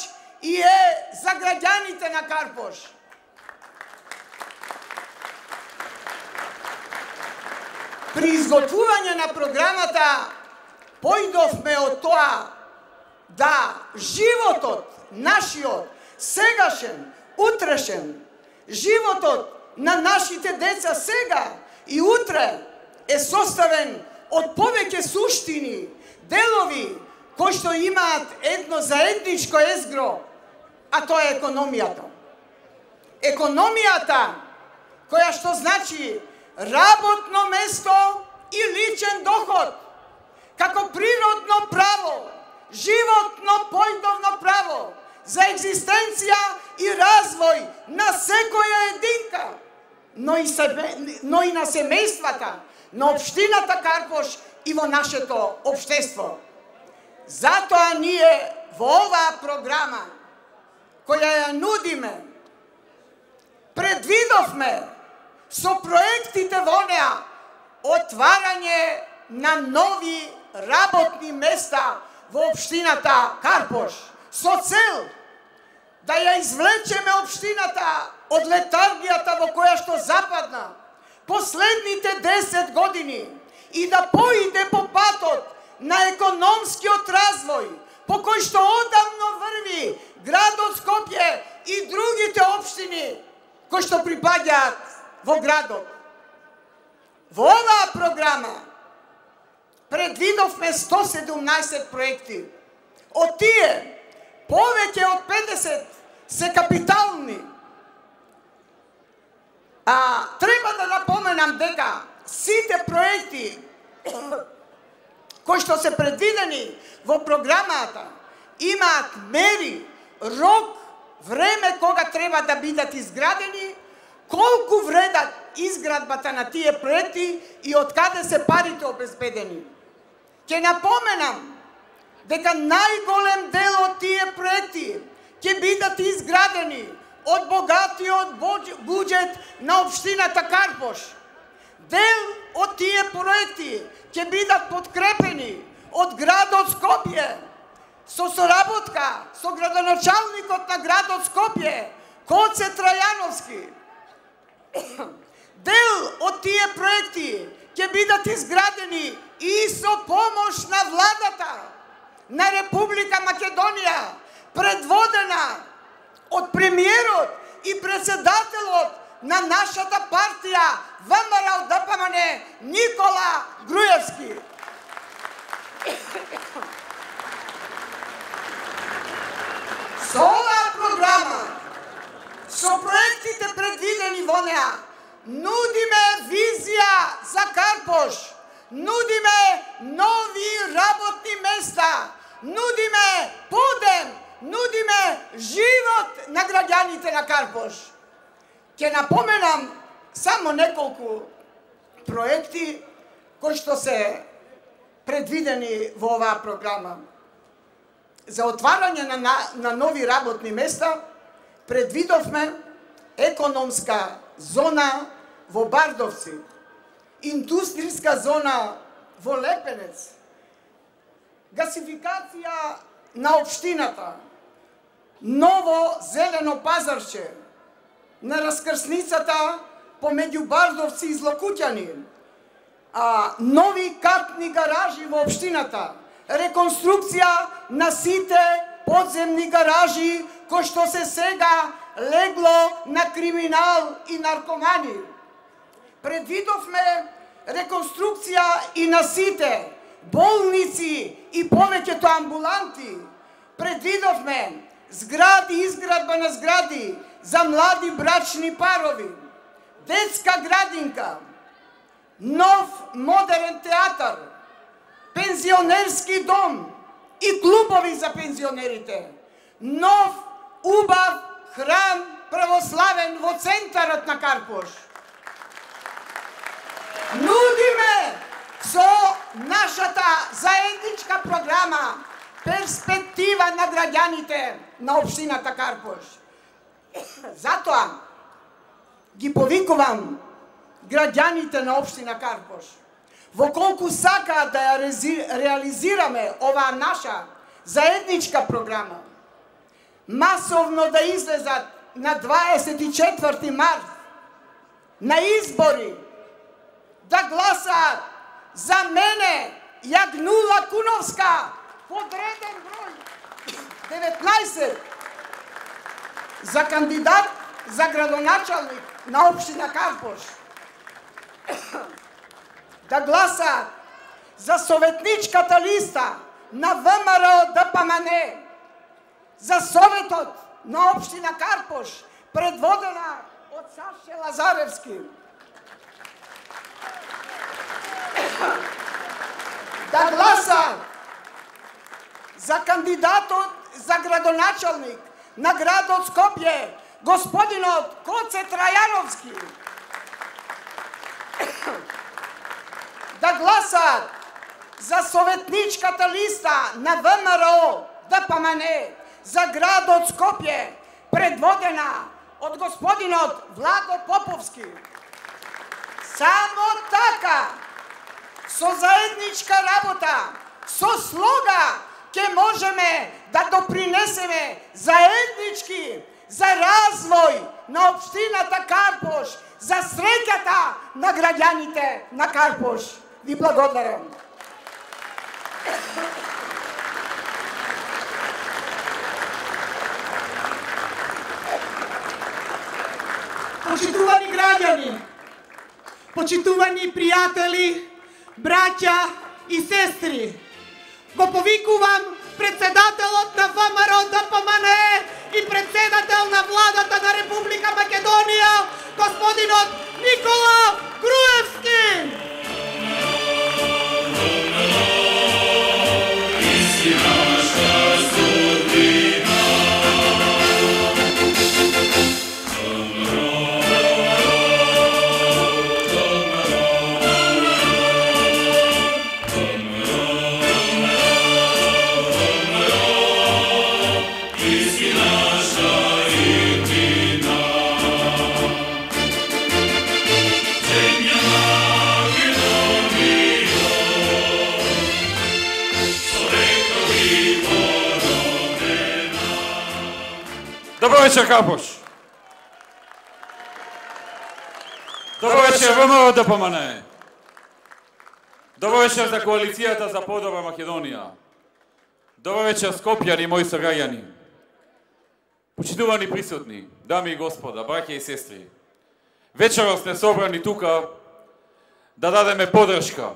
и е за граѓаните на Карпош. При изготвување на програмата појдовме од тоа да животот нашиот, сегашен, утрешен, животот на нашите деца сега и утре е составен од повеќе суштини, делови кои што имаат едно заедничко езгро, а тоа е економијата. Економијата која што значи работно место и личен доход, како природно право, животно појдовно право за екзистенција и развој на секоја единка, но и, себе, но и на семејствата, на општината Карпош и во нашето општество. Затоа ние во оваа програма, која ја нудиме, предвидовме со проектите во неа отварање на нови работни места во општината Карпош, со цел да ја извлечеме општината од летаргијата во која што западна последните десет години и да поиде по патот на економскиот развој, по кој што одамно врви градот Скопје и другите општини кои што припаѓаат во градот. Во оваа програма предвидовме сто седумнаесет проекти. Од тие, повеќе од педесет се капитални. А треба да напоменам дека сите проекти кои што се предвидени во програмата имаат мери, рок, време кога треба да бидат изградени, колку вредат изградбата на тие проекти и од каде се парите обезбедени. Ќе напоменам дека најголем дел од тие проекти ќе бидат изградени од богатиот буџет на општината Карпош. Дел од тие проекти ќе бидат подкрепени од градот Скопје со соработка со градоначалникот на градот Скопје, Гоце Трајановски. Дел од тие проекти ќе бидат изградени и со помош на владата на Република Македонија, предводена од премиерот и председателот на нашата партија ВМРО Д П М Н Никола Груевски. Со оваа програма, со проектите предвидени во неа, нудиме визија за Карпош, нудиме нови работни места, нудиме подем, нудиме живот на граѓаните на Карпош. Ќе напоменам само неколку проекти кои што се предвидени во оваа програма. За отварање на, на, на нови работни места предвидовме економска зона во Бардовци, индустријска зона во Лепенец, гасификација на општината, ново зелено пазарче на раскрсницата помеѓу Бардовци и Злокуќани, а, нови катни гаражи во општината, реконструкција на сите подземни гаражи кои што се сега легло на криминал и наркомани. Предвидовме реконструкција и на сите болници и повеќето амбуланти. Предвидовме згради, изградба на згради за млади брачни парови, детска градинка, нов модерен театар, пензионерски дом и клубови за пензионерите, нов убав храм православен во центарот на Карпош. Нудиме со нашата заедничка програма перспектива на граѓаните на општината Карпош. Затоа ги повикувам граѓаните на општина Карпош, во колку сакаат да ја реализираме оваа наша заедничка програма, масовно да излезат на дваесет и четврти март на избори, да гласаат за мене, Јагнула Куновска, подреден број деветнаесет, за кандидат за градоначалник на општина Карпош. Да гласаат за советничката листа на ВМРО ДПМН, за Советот на општина Карпош, предводена од Саше Лазаревски. Да гласаат за кандидатот за градоначалник на градот Скопје, господинот Коце Трајановски. Да гласаат за советничката листа на ВМРО ДПМН за градот Скопје, предводена од господинот Владо Поповски. Само така, со заедничка работа, со слога, ќе можеме да допринесеме заеднички за развој на општината Карпош, за среќата на граѓаните на Карпош. Ви благодарам. Почитувани граѓани, почитувани пријатели, браќа и сестри, го повикувам председателот на ВМРО ДПМН и председател на владата на Република Македонија, господинот Никола Груевски. Добро вечер, Карпош. Добро вечер, ВМРО ДПМН. Добро вечер за коалицијата за подобра Македонија. Добро вечер, Скопјани, мои сограѓани. Почитувани присутни, дами и господа, браќа и сестри. Вечерот сме собрани тука да дадеме поддршка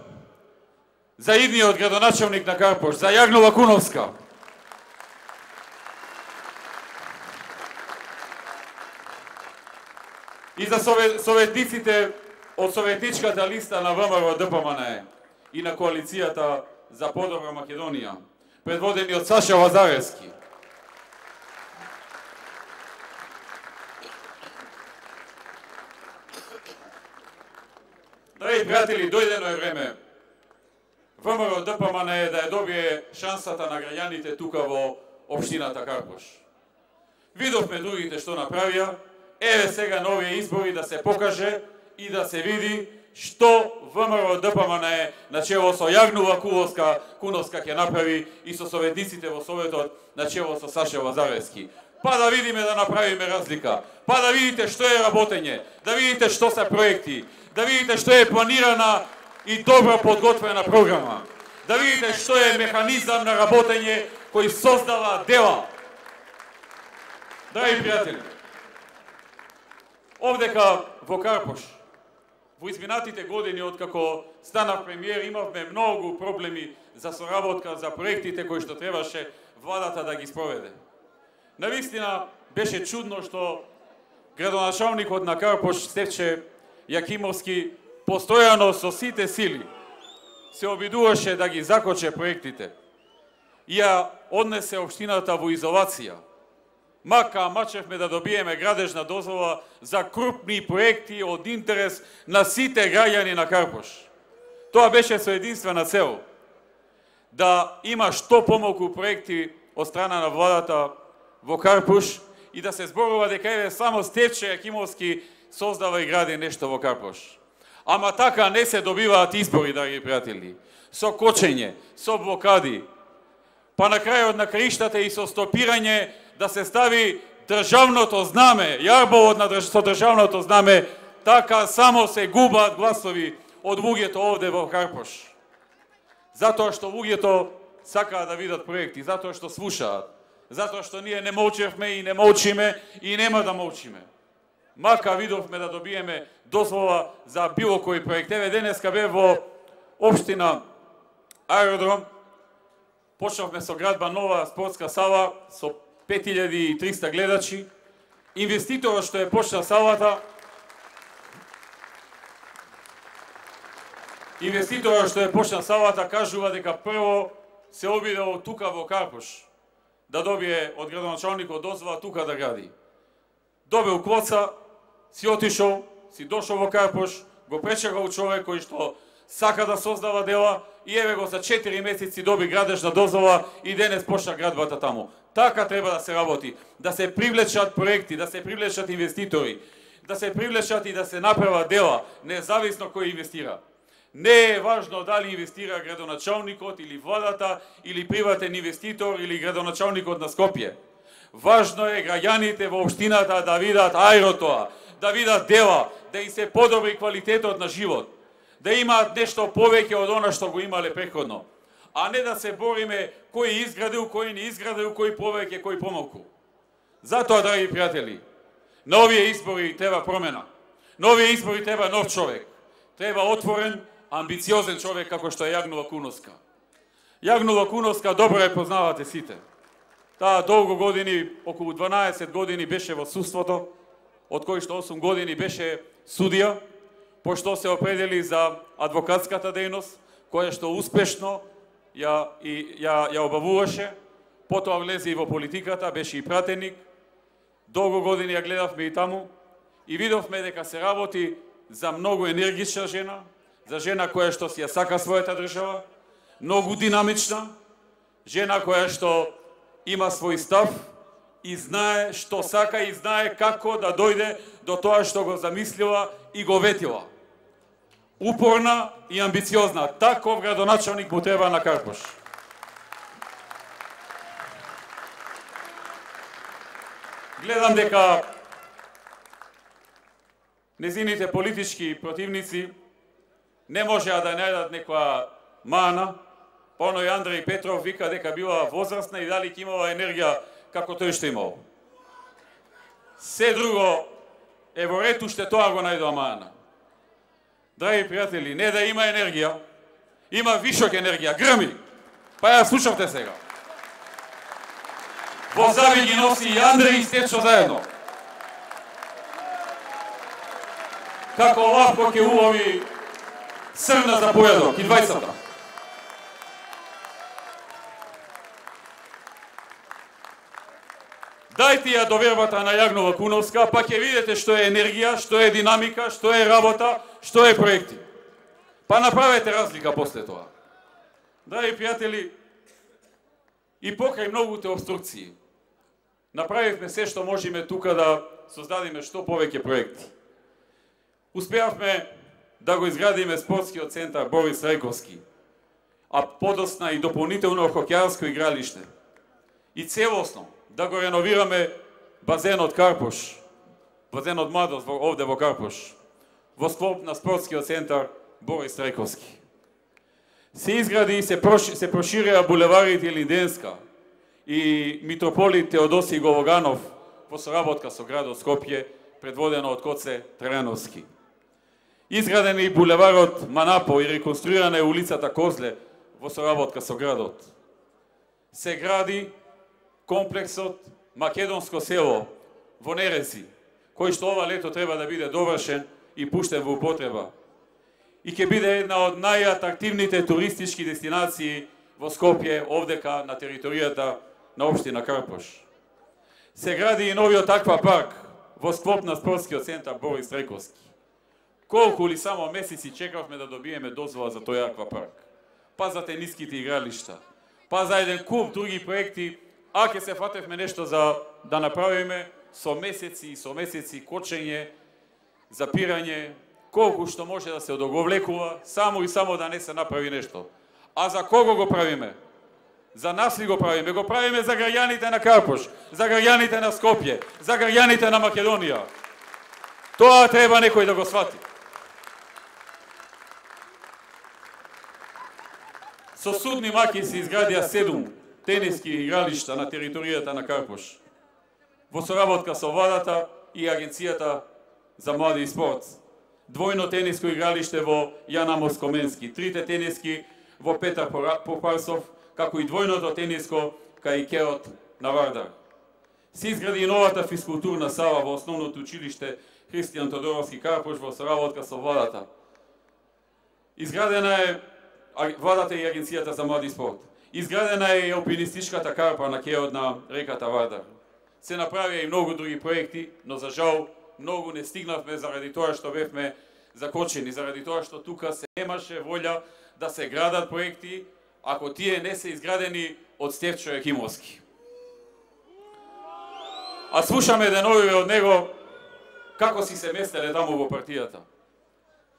за идниот градоначалник на Карпош, за Јагнула Куновска. И за советниците од советничката листа на ВМРО ДПМН и на коалицијата за подобра Македонија. предводени од Саша Лазаревски. Драги пријатели, дојдено е време ВМРО ДПМН е да ја добие шансата на граѓаните тука во општината Карпош. Видовме другите што направија, еве сега на овие избори да се покаже и да се види што ВМРО ДПМН е на чело со Јагнува Куновска, Куновска ќе направи и со советниците во Советот на чело со Саша Лазаревски. Па да видиме да направиме разлика, па да видите што е работење, да видите што се проекти, да видите што е планирана и добро подготвена програма, да видите што е механизам на работење кој создава дела. Драги пријатели, овдека во Карпош, во изминатите години откако станав премиер, имавме многу проблеми за соработка, за проектите кои што требаше владата да ги спроведе. Навистина беше чудно што градоначалникот на Карпош Стефче Јакимовски постојано со сите сили се обидуваше да ги закоче проектите и ја однесе општината во изолација. Мака мачевме да добиеме градежна дозвола за крупни проекти од интерес на сите граѓани на Карпош. Тоа беше со единствена цел да има што помалку проекти од страна на владата во Карпош и да се зборува дека еве само Стефче Јакимовски создава и гради нешто во Карпош. Ама така не се добиваат избори, драги пријатели. Со кочење, со блокади, па на крајот на краиштата и со стопирање да се стави државното знаме, јарбовот на држ... со државното знаме, така само се губаат гласови од луѓето овде во Карпош. Затоа што луѓето сакаат да видат проекти, затоа што слушаат, затоа што ние не молчевме и не молчиме и нема да молчиме. Мака видовме да добиеме дозвола за било кој проект. Еве денеска бе во општина Аеродром, почнавме со градба нова спортска сала со пет илјади и триста гледачи. Инвеститорот што е почна салата, инвеститорот што е почна салата кажува дека прво се обидел тука во Карпош да добие од градоначалникот дозвола тука да гради. Добил квоца, си отишол, си дошол во Карпош, го пречекал човек кој што сака да создава дела и еве го за четири месеци доби градежна дозвола и денес почна градбата таму. Така треба да се работи, да се привлечат проекти, да се привлечат инвеститори, да се привлечат и да се направат дела, независно кој инвестира. Не е важно дали инвестира градоначалникот или владата, или приватен инвеститор, или градоначалникот на Скопје. Важно е граѓаните во општината да видат аеротоа, да видат дела, да им се подобри квалитетот на живот, да имаат нешто повеќе од она што го имале претходно, а не да се бориме кој изградил, кој не изградил, кој повеќе, кој помалку. Затоа, драги пријатели, на овие избори треба промена. На овие избори треба нов човек. Треба отворен, амбициозен човек како што е Јагнува Куновска. Јагнува Куновска добро ја познавате сите. Таа долго години, околу дванаесет години беше во судството, од кои што осум години беше судија, пошто се определи за адвокатската дејност, која што успешно ја, и, ја, ја обавуваше, потоа влезе и во политиката, беше и пратеник, долго години ја гледавме и таму, и видовме дека се работи за многу енергична жена, за жена која што си ја сака својата држава, многу динамична, жена која што има свој став и знае што сака и знае како да дојде до тоа што го замислила и го ветила. Упорна и амбициозна. Таков градоначалник му треба на Карпош. Гледам дека незините политички противници не можеа да најдат некоја мана. Поно и Андреј Петров вика дека била возрастна и дали ќе имала енергија како тој што имал. Се друго е во ред, уште тоа го најдоа мана. Драги пријатели, не да има енергија, има вишок енергија, грми. Па ја слушавте сега. Во зави ги носи и Андреј и Стечо заедно. Како лавко ќе улови срна за појадок и двајцата. Дајте ја довербата на Јагнова Куновска, па ќе видите што е енергија, што е динамика, што е работа, што е проекти. Па направете разлика после тоа. Драги пријатели, и покрај многуте обструкции, направивме се што можеме тука да создадиме што повеќе проекти. Успеавме да го изградиме спортскиот центар Борис Рајковски, а подосна и дополнително хокејарско игралиште. И целосно да го реновираме базенот Карпош, базенот Младост овде во Карпош, во склоп на спортскиот центар Борис Рајковски. Се изгради и се, проши, се проширија булеварите Линденска и митрополит Теодосиј Головганов во соработка со градот Скопје, предводено од Коце Трајановски. Изграден и булеварот Манапо и реконструирана е улицата Козле во соработка со градот. Се гради комплексот Македонско село во Нерези, кој што ова лето треба да биде довршен и пуштен во употреба. И ќе биде една од најатрактивните туристички дестинации во Скопје, овдека на територијата на општина Карпош. Се гради и новиот аквапарк во склоп на спортскиот центар Борис Рајковски. Колку ли само месеци чекавме да добиеме дозвола за тој аквапарк, па за тениските игралишта, па за еден куп други проекти, а ќе се фатевме нешто за да направиме со месеци и со месеци кочење, запирање, колку што може да се одоговлекува, само и само да не се направи нешто. А за кого го правиме? За нас ли го правиме? Го правиме за граѓаните на Карпош, за граѓаните на Скопје, за граѓаните на Македонија. Тоа треба некој да го свати. Со судни маки се изградија седум тениски игралишта на територијата на Карпош, во соработка со владата и Агенцијата за млади и спорт. Двојно тениско игралиште во Јан Амос Коменски, трите тениски во Петар Попарсов, како и двојното тениско кај Керот на Вардар. Се изгради и новата физкултурна сала во основното училиште Христијан Тодоровски Карпош во соработка со владата. Изградена е владата и Агенцијата за млади и спорт. Изградена е и алпинистичката карпа на кеот на реката Вардар. Се направија и многу други проекти, но за жал многу не стигнавме заради тоа што бевме закочени, заради тоа што тука се немаше волја да се градат проекти, ако тие не се изградени од Стефчо Јакимовски. А слушаме деновиве од него како си се местеле таму во партијата.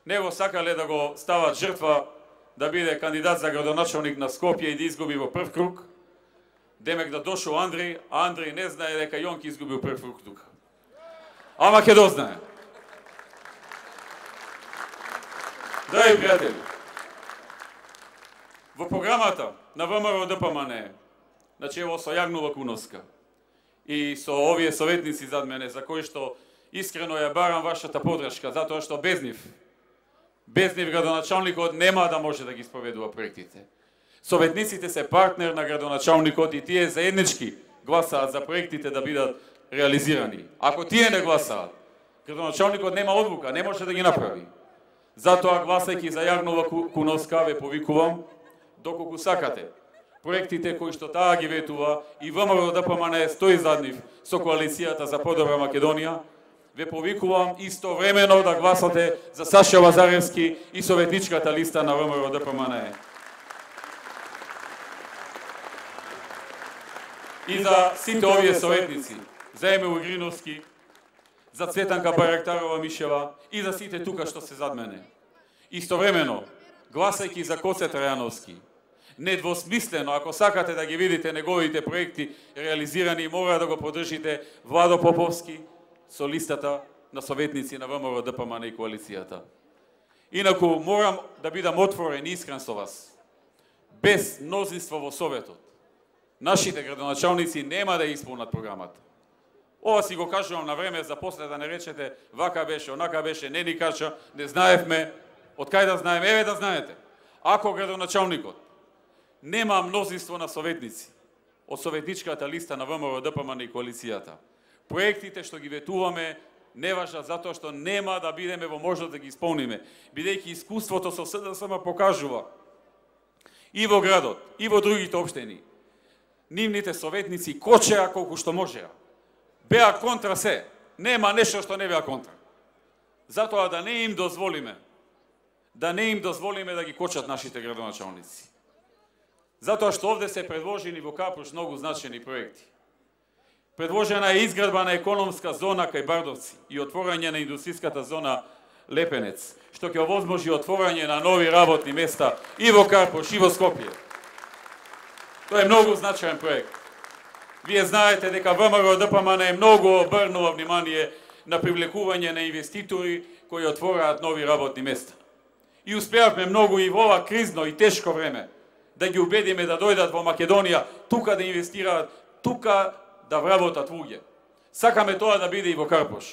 Него сакале да го стават жртва да биде кандидат за градоначалник на Скопје и да изгуби во прв круг. Демек да дошол Андреј, а Андреј не знае дека Јонки изгубил прв круг тука. Ама ќе дознае. Драги пријатели, во програмата на ВМРО ДПМН, начело со Јагнова Куновска и со овие советници зад мене, за кои што искрено ја барам вашата подршка, затоа што без нив, без нив градоначалникот нема да може да ги спроведува проектите. Советниците се партнер на градоначалникот и тие заеднички гласаат за проектите да бидат реализирани. Ако тие не гласаат, градоначалникот нема одлука, не може да ги направи. Затоа, гласајќи за Јагнова Куновска, ве повикувам, доколку сакате, проектите кои што таа ги ветува и ВМРО ДПМН стои зад нив со коалицијата за подобра Македонија, ве повикувам истовремено да гласате за Саша Лазаревски и советничката листа на ВМРО ДПМН. И за сите овие советници, за Емил Игриновски, за Цветанка Барактарова Мишева и за сите тука што се зад мене. Истовремено, гласајќи за Коце Трајановски, недвосмислено, ако сакате да ги видите неговите проекти реализирани, мора да го поддржите Владо Поповски со листата на советници на ВМРО ДПМН и коалицијата. Инаку, морам да бидам отворен и искрен со вас. Без мнозинство во Советот, нашите градоначалници нема да исполнат програмата. Ова си го кажувам на време, за после да не речете вака беше, онака беше, не ни кажа, не знаевме, од кај да знаеме, еве да знаете. Ако градоначалникот нема мнозинство на советници од советничката листа на ВМРО ДПМН и коалицијата, проектите што ги ветуваме не важат затоа што нема да бидеме во можност да ги исполниме, бидејќи искуството со СДСМ покажува и во градот, и во другите општини, нивните советници кочеа колку што можеа. беа контра се. Нема нешто што не беа контра. Затоа да не им дозволиме, да не им дозволиме да ги кочат нашите градоначалници. Затоа што овде се предложени во Карпуш многу значени проекти. Предложена е изградба на економска зона кај Бардовци и отворање на индустријската зона Лепенец, што ќе овозможи отворање на нови работни места и во Карпуш и во Скопје. Тоа е многу значаен проект. Вие знаете дека ВМРО Д П М Н е многу обрнува внимание на привлекување на инвеститори кои отвораат нови работни места. И успеавме многу и во ова кризно и тешко време да ги убедиме да дојдат во Македонија, тука да инвестираат, тука да вработат луѓе. Сакаме тоа да биде и во Карпуш.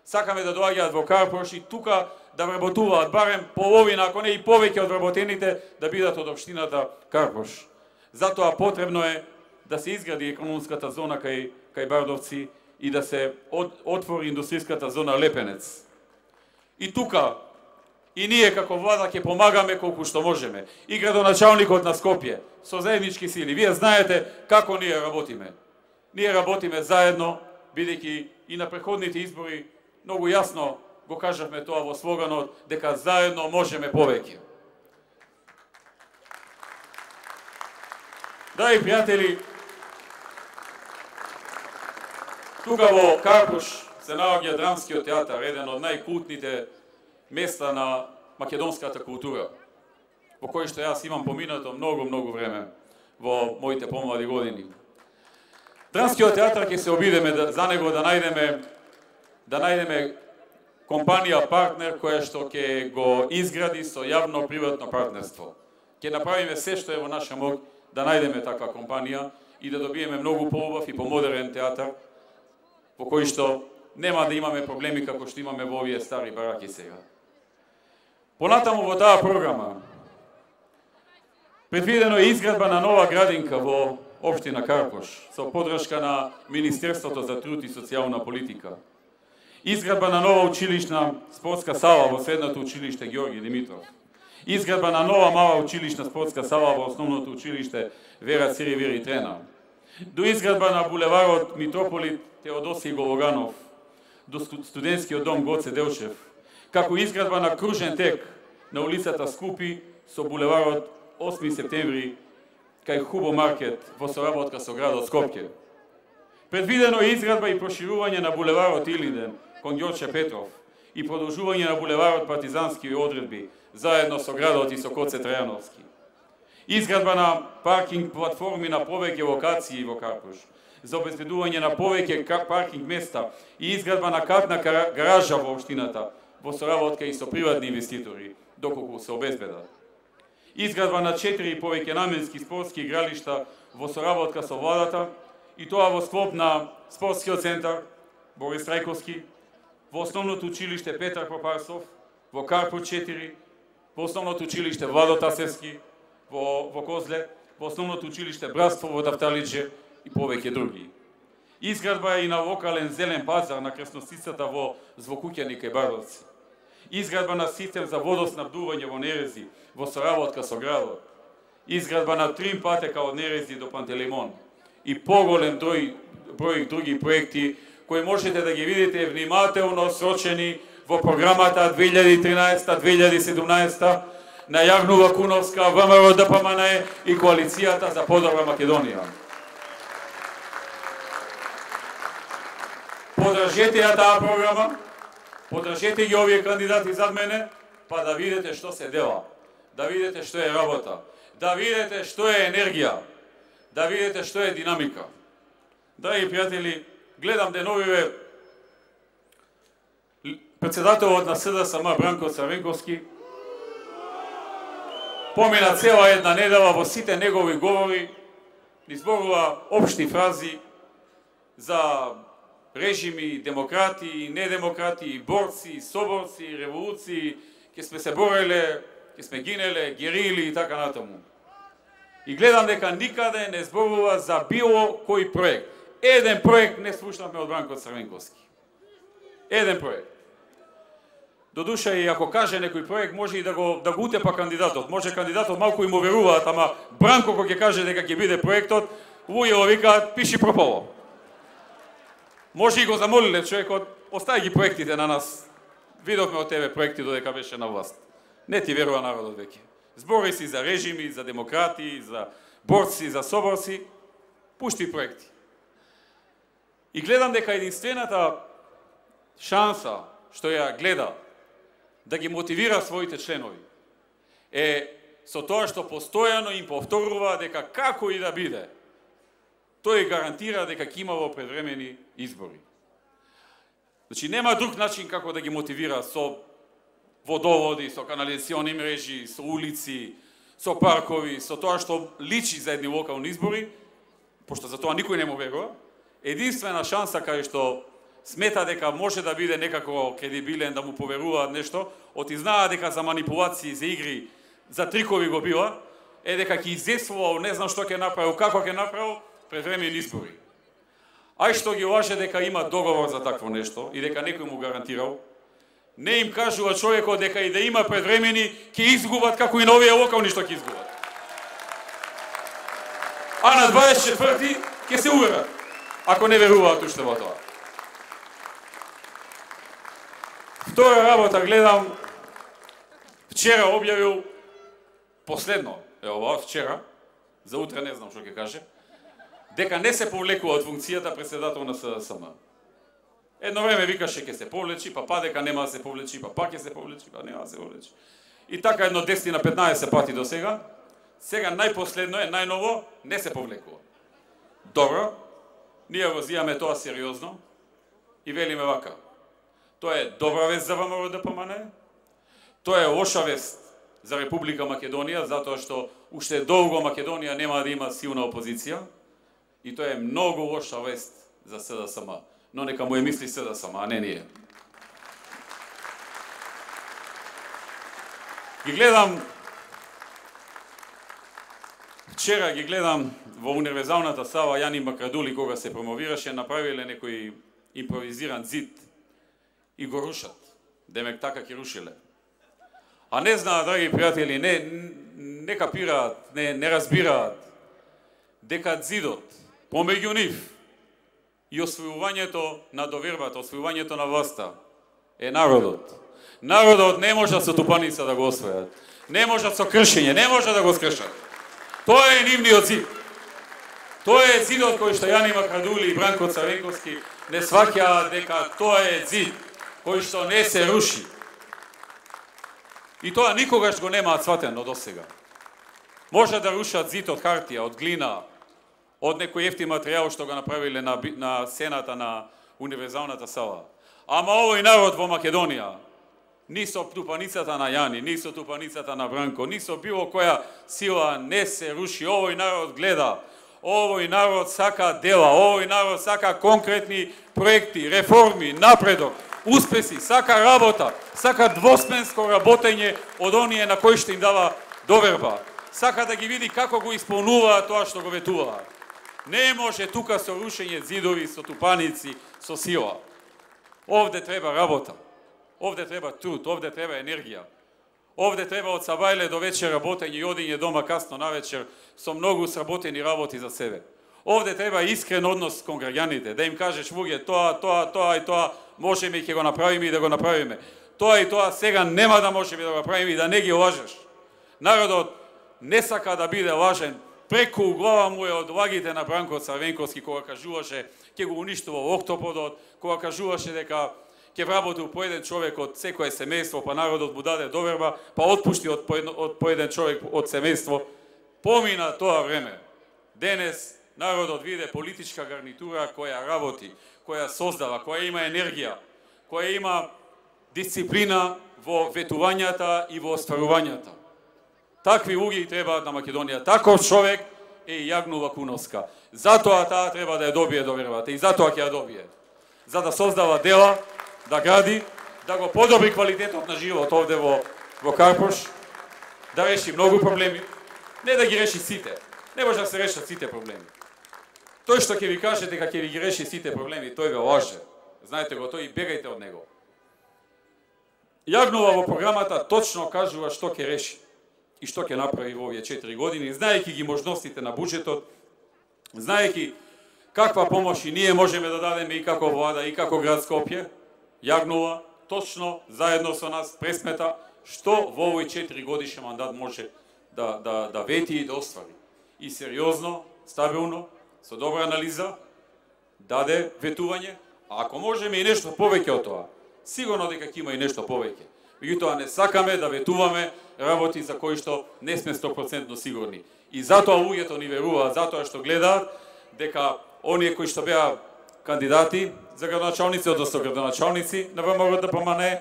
Сакаме да доаѓаат во Карпуш и тука да вработуваат барем половина, ако не и повеќе од вработените, да бидат од општината Карпуш. Затоа потребно е да се изгради економската зона кај, кај Бардовци и да се от, отвори индустријската зона Лепенец. И тука, и ние како влада ќе помагаме колку што можеме. И градоначалникот на Скопје, со заеднички сили. Вие знаете како ние работиме. Ние работиме заедно, бидејќи и на преходните избори многу јасно го кажавме тоа во слоганот, дека заедно можеме повеќе. Драги пријатели, тука во Карпуш се наоѓа Драмскиот театар, еден од најкултните места на македонската култура, во кој што јас имам поминато многу, многу време во моите помлади години. Драмскиот театар ќе се обидеме да, за него да најдеме да најдеме компанија партнер која што ќе го изгради со јавно-приватно партнерство. Ќе направиме се што е во наша мог да најдеме таква компанија и да добиеме многу поубав и помодерен театар во кој што нема да имаме проблеми како што имаме во овие стари бараки сега. Понатаму во таа програма предвидено е изградба на нова градинка во општина Карпуш со поддршка на Министерството за труд и социјална политика. Изградба на нова училишна спортска сала во средното училиште Георги Димитров. Изградба на нова мала училишна спортска сала во основното училиште Вера Циривири Трена. До изградба на булеварот Митрополит Теодосиј Гологанов, до студентскиот дом Гоце Делчев, како изградба на кружен тек на улицата Скупи со булеварот осми септември кај Хубо Маркет во соработка со градот Скопје. Предвидено е изградба и проширување на булеварот Илинден кон Ѓорче Петров и продолжување на булеварот Партизански одредби заедно со градот и со Коце Трајановски. Изградба на паркинг платформи на повеќе локации во Карпуш за обезбедување на повеќе паркинг места и изградба на катна гаража во општината во соработка и со приватни инвеститори доколку се обезбедат. Изградба на четири и повеќе наменски спортски игралишта во соработка со владата и тоа во склоп на спортскиот центар Борис Трајковски, во основното училиште Петар Попарсов, во Карпуш четири, во основното училиште Владо Тасевски, во, во Козле, во основното училиште Братство во Тафталиџе и повеќе други. Изградба е и на локален зелен пазар на крстосицата во Звукуќани кај Бардовци. Изградба на систем за водоснабдување во Нерези во соработка со градот. Изградба на трим патека од Нерези до Пантелеймон и поголем број, број други проекти кои можете да ги видите внимателно срочени во програмата две илјади и тринаесета две илјади и седумнаесета на Јагнува Куновска, ВМРО Д П М Н и Коалицијата за подобра Македонија. Подржете ја таа програма, подржете ги овие кандидати зад мене, па да видите што се дела, да видите што е работа, да видите што е енергија, да видите што е динамика. Драги пријатели, гледам деновиве председателот на С Д С М Бранко Црвенковски помина цела една недела во сите негови говори, изборува општи фрази за режими, демократи, недемократи, борци, соборци, револуции, ке сме се бореле, ке сме гинеле, герили и така натаму. И гледам дека никаде не зборува за било кој проект. Еден проект не слушнавме од Бранко Црвенковски. Еден проект. Додуша и ако каже некој проект, може и да го да го утепа кандидатот. Може кандидатот малку им уверуваат, ама Бранко кога ќе каже дека ќе биде проектот, луѓето викаат пиши пропало. Може и го замолиле човекот, остави ги проектите на нас. Видовме од тебе проекти додека беше на власт. Не ти верува народот веќе. Збори си за режими, за демократи, за борци, за соборци, пушти проекти. И гледам дека единствената шанса што ја гледа да ги мотивира своите членови е со тоа што постојано им повторува дека како и да биде, тој гарантира дека ќе има во предвремени избори. Значи нема друг начин како да ги мотивира со водоводи, со канализациони мрежи, со улици, со паркови, со тоа што личи за едни локални избори, пошто за тоа никој не му верува. Единствена шанса кај што смета дека може да биде некако кредибилен, да му поверуваат нешто, оти знаа дека за манипулации, за игри, за трикови го бива, е дека ќе изесвувал, не знам што ќе направил, како ќе направил, предвремени избори. Ај што ги лаже дека има договор за такво нешто и дека некој му гарантирал, не им кажува човекот дека и да има предвремени, ќе изгубат како и на овие локални што ќе изгубат. А на дваесет и четврти ќе се уверат, ако не веруваат уште во тоа. Втора работа гледам, вчера објавил последно, е ова, вчера, за утре не знам што ќе каже, дека не се повлекува од функцијата председател на С Д С М. Едно време викаше ќе се повлечи, па па дека нема да се повлечи, па па ќе се повлечи, па нема да се повлечи. И така едно десет на петнаесет пати до сега. Сега најпоследно е, најново, не се повлекува. Добро, ние го зијаме тоа сериозно и велиме вака. Тоа е добра вест за ВМРО Д П М Н, тоа е лоша вест за Република Македонија, затоа што уште долго Македонија нема да има силна опозиција, и тоа е многу лоша вест за С Д С М. Но нека му е мисли С Д С М, а не ние. Ги гледам, вчера ги гледам во универзалната сала Јани Макрадули, кога се промовираше, направиле некој импровизиран зид и го рушат. Демек така ќе рушиле. А не знаат, драги пријатели, не, не капираат, не, не разбираат дека зидот помеѓу нив и освојувањето на довербата, освојувањето на власта е народот. Народот не може со тупаница да го освојат. Не може со кршење, не може да го скршат. Тоа е нивниот зид. Тоа е зидот кој што Јани Макрадули и Бранко Црвенковски не сваќаат дека тоа е зид кој што не се руши. И тоа никогаш го немаат сватено до сега. Може да рушат зид од хартија, од глина, од некој ефтин материјал што го направиле на, на сената на универзалната сала. Ама овој народ во Македонија, ни со тупаницата на Јани, ни со тупаницата на Бранко, ни со било која сила не се руши. Овој народ гледа, овој народ сака дела, овој народ сака конкретни проекти, реформи, напредок, успеси, сака работа, сака двосменско работење од оние на кои што им дава доверба. Сака да ги види како го исполнуваат тоа што го ветуваат. Не може тука со рушење зидови, со тупаници, со сила. Овде треба работа. Овде треба труд, овде треба енергија. Овде треба од сабајле до вечер работење и одење дома касно навечер со многу сработени работи за себе. Овде треба искрен однос кон граѓаните, да им кажеш луѓе тоа, тоа, тоа и тоа можеме и ќе го направиме и да го направиме. Тоа и тоа сега нема да можеме да го направиме и да не ги лажеш. Народот не сака да биде лажен. Преку глава му е од лагите на Бранко Црвенковски кога кажуваше ќе го уништува октоподот, кога кажуваше дека ќе вработи по еден човек од секое семејство, па народот му даде доверба, па отпушти од по еден човек од семејство. Помина тоа време. Денес народот виде политичка гарнитура која работи, која создава, која има енергија, која има дисциплина во ветувањата и во остварувањата. Такви луѓе требаат на Македонија. Таков човек е Јагну Лакуновска. Затоа таа треба да ја добие довербата и затоа ќе ја добие. За да создава дела, да гради, да го подобри квалитетот на живот овде во, во Карпош, да реши многу проблеми, не да ги реши сите. Не може да се решат сите проблеми. Тој што ќе ви каже дека ќе ви ги реши сите проблеми, тој ве лаже. Знаете го, тој и бегајте од него. Јагнова во програмата точно кажува што ќе реши и што ќе направи во овие четири години, знаејќи ги можностите на буџетот, знаејќи каква помош и ние можеме да дадеме и како влада и како град Скопје, јагнува точно заедно со нас пресмета што во овој четири годишен мандат може да, да, да вети и да оствари. И сериозно, стабилно, со добра анализа, даде ветување, а ако можеме и нешто повеќе од тоа, сигурно дека ќе има и нешто повеќе. Меѓутоа не сакаме да ветуваме работи за кои што не сме сто проценти сигурни. И затоа луѓето ни веруваат, затоа што гледаат дека оние кои што беа кандидати за градоначалници, односно градоначалници на ВМРО Д П М Н,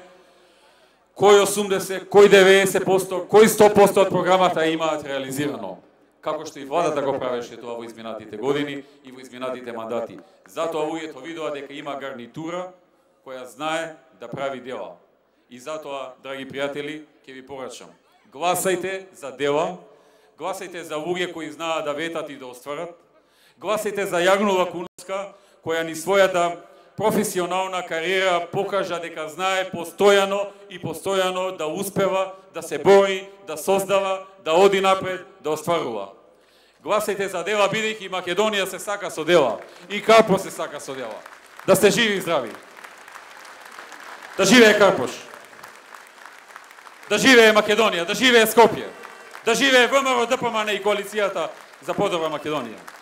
кој осумдесет, кој деветдесет проценти, кој сто проценти од програмата имаат реализирано. Како што и владата го правеше тоа во изминатите години и во изминатите мандати. Затоа луѓето видува дека има гарнитура која знае да прави дела. И затоа, драги пријатели, ќе ви порачам. Гласајте за дела, гласајте за луѓе кои знаат да ветат и да остварат, гласајте за Јагнова Куновска, која ни својата професионална кариера покажа дека знае постојано и постојано да успева, да се бори, да создава, да оди напред, да остварува. Гласајте за дела, бидејќи Македонија се сака со дела и Карпош се сака со дела. Да сте живи и здрави. Да живее Карпош. Да живее Македонија, да живее Скопје. Да живее ВМРО Д П М Н и коалицијата за подобра Македонија.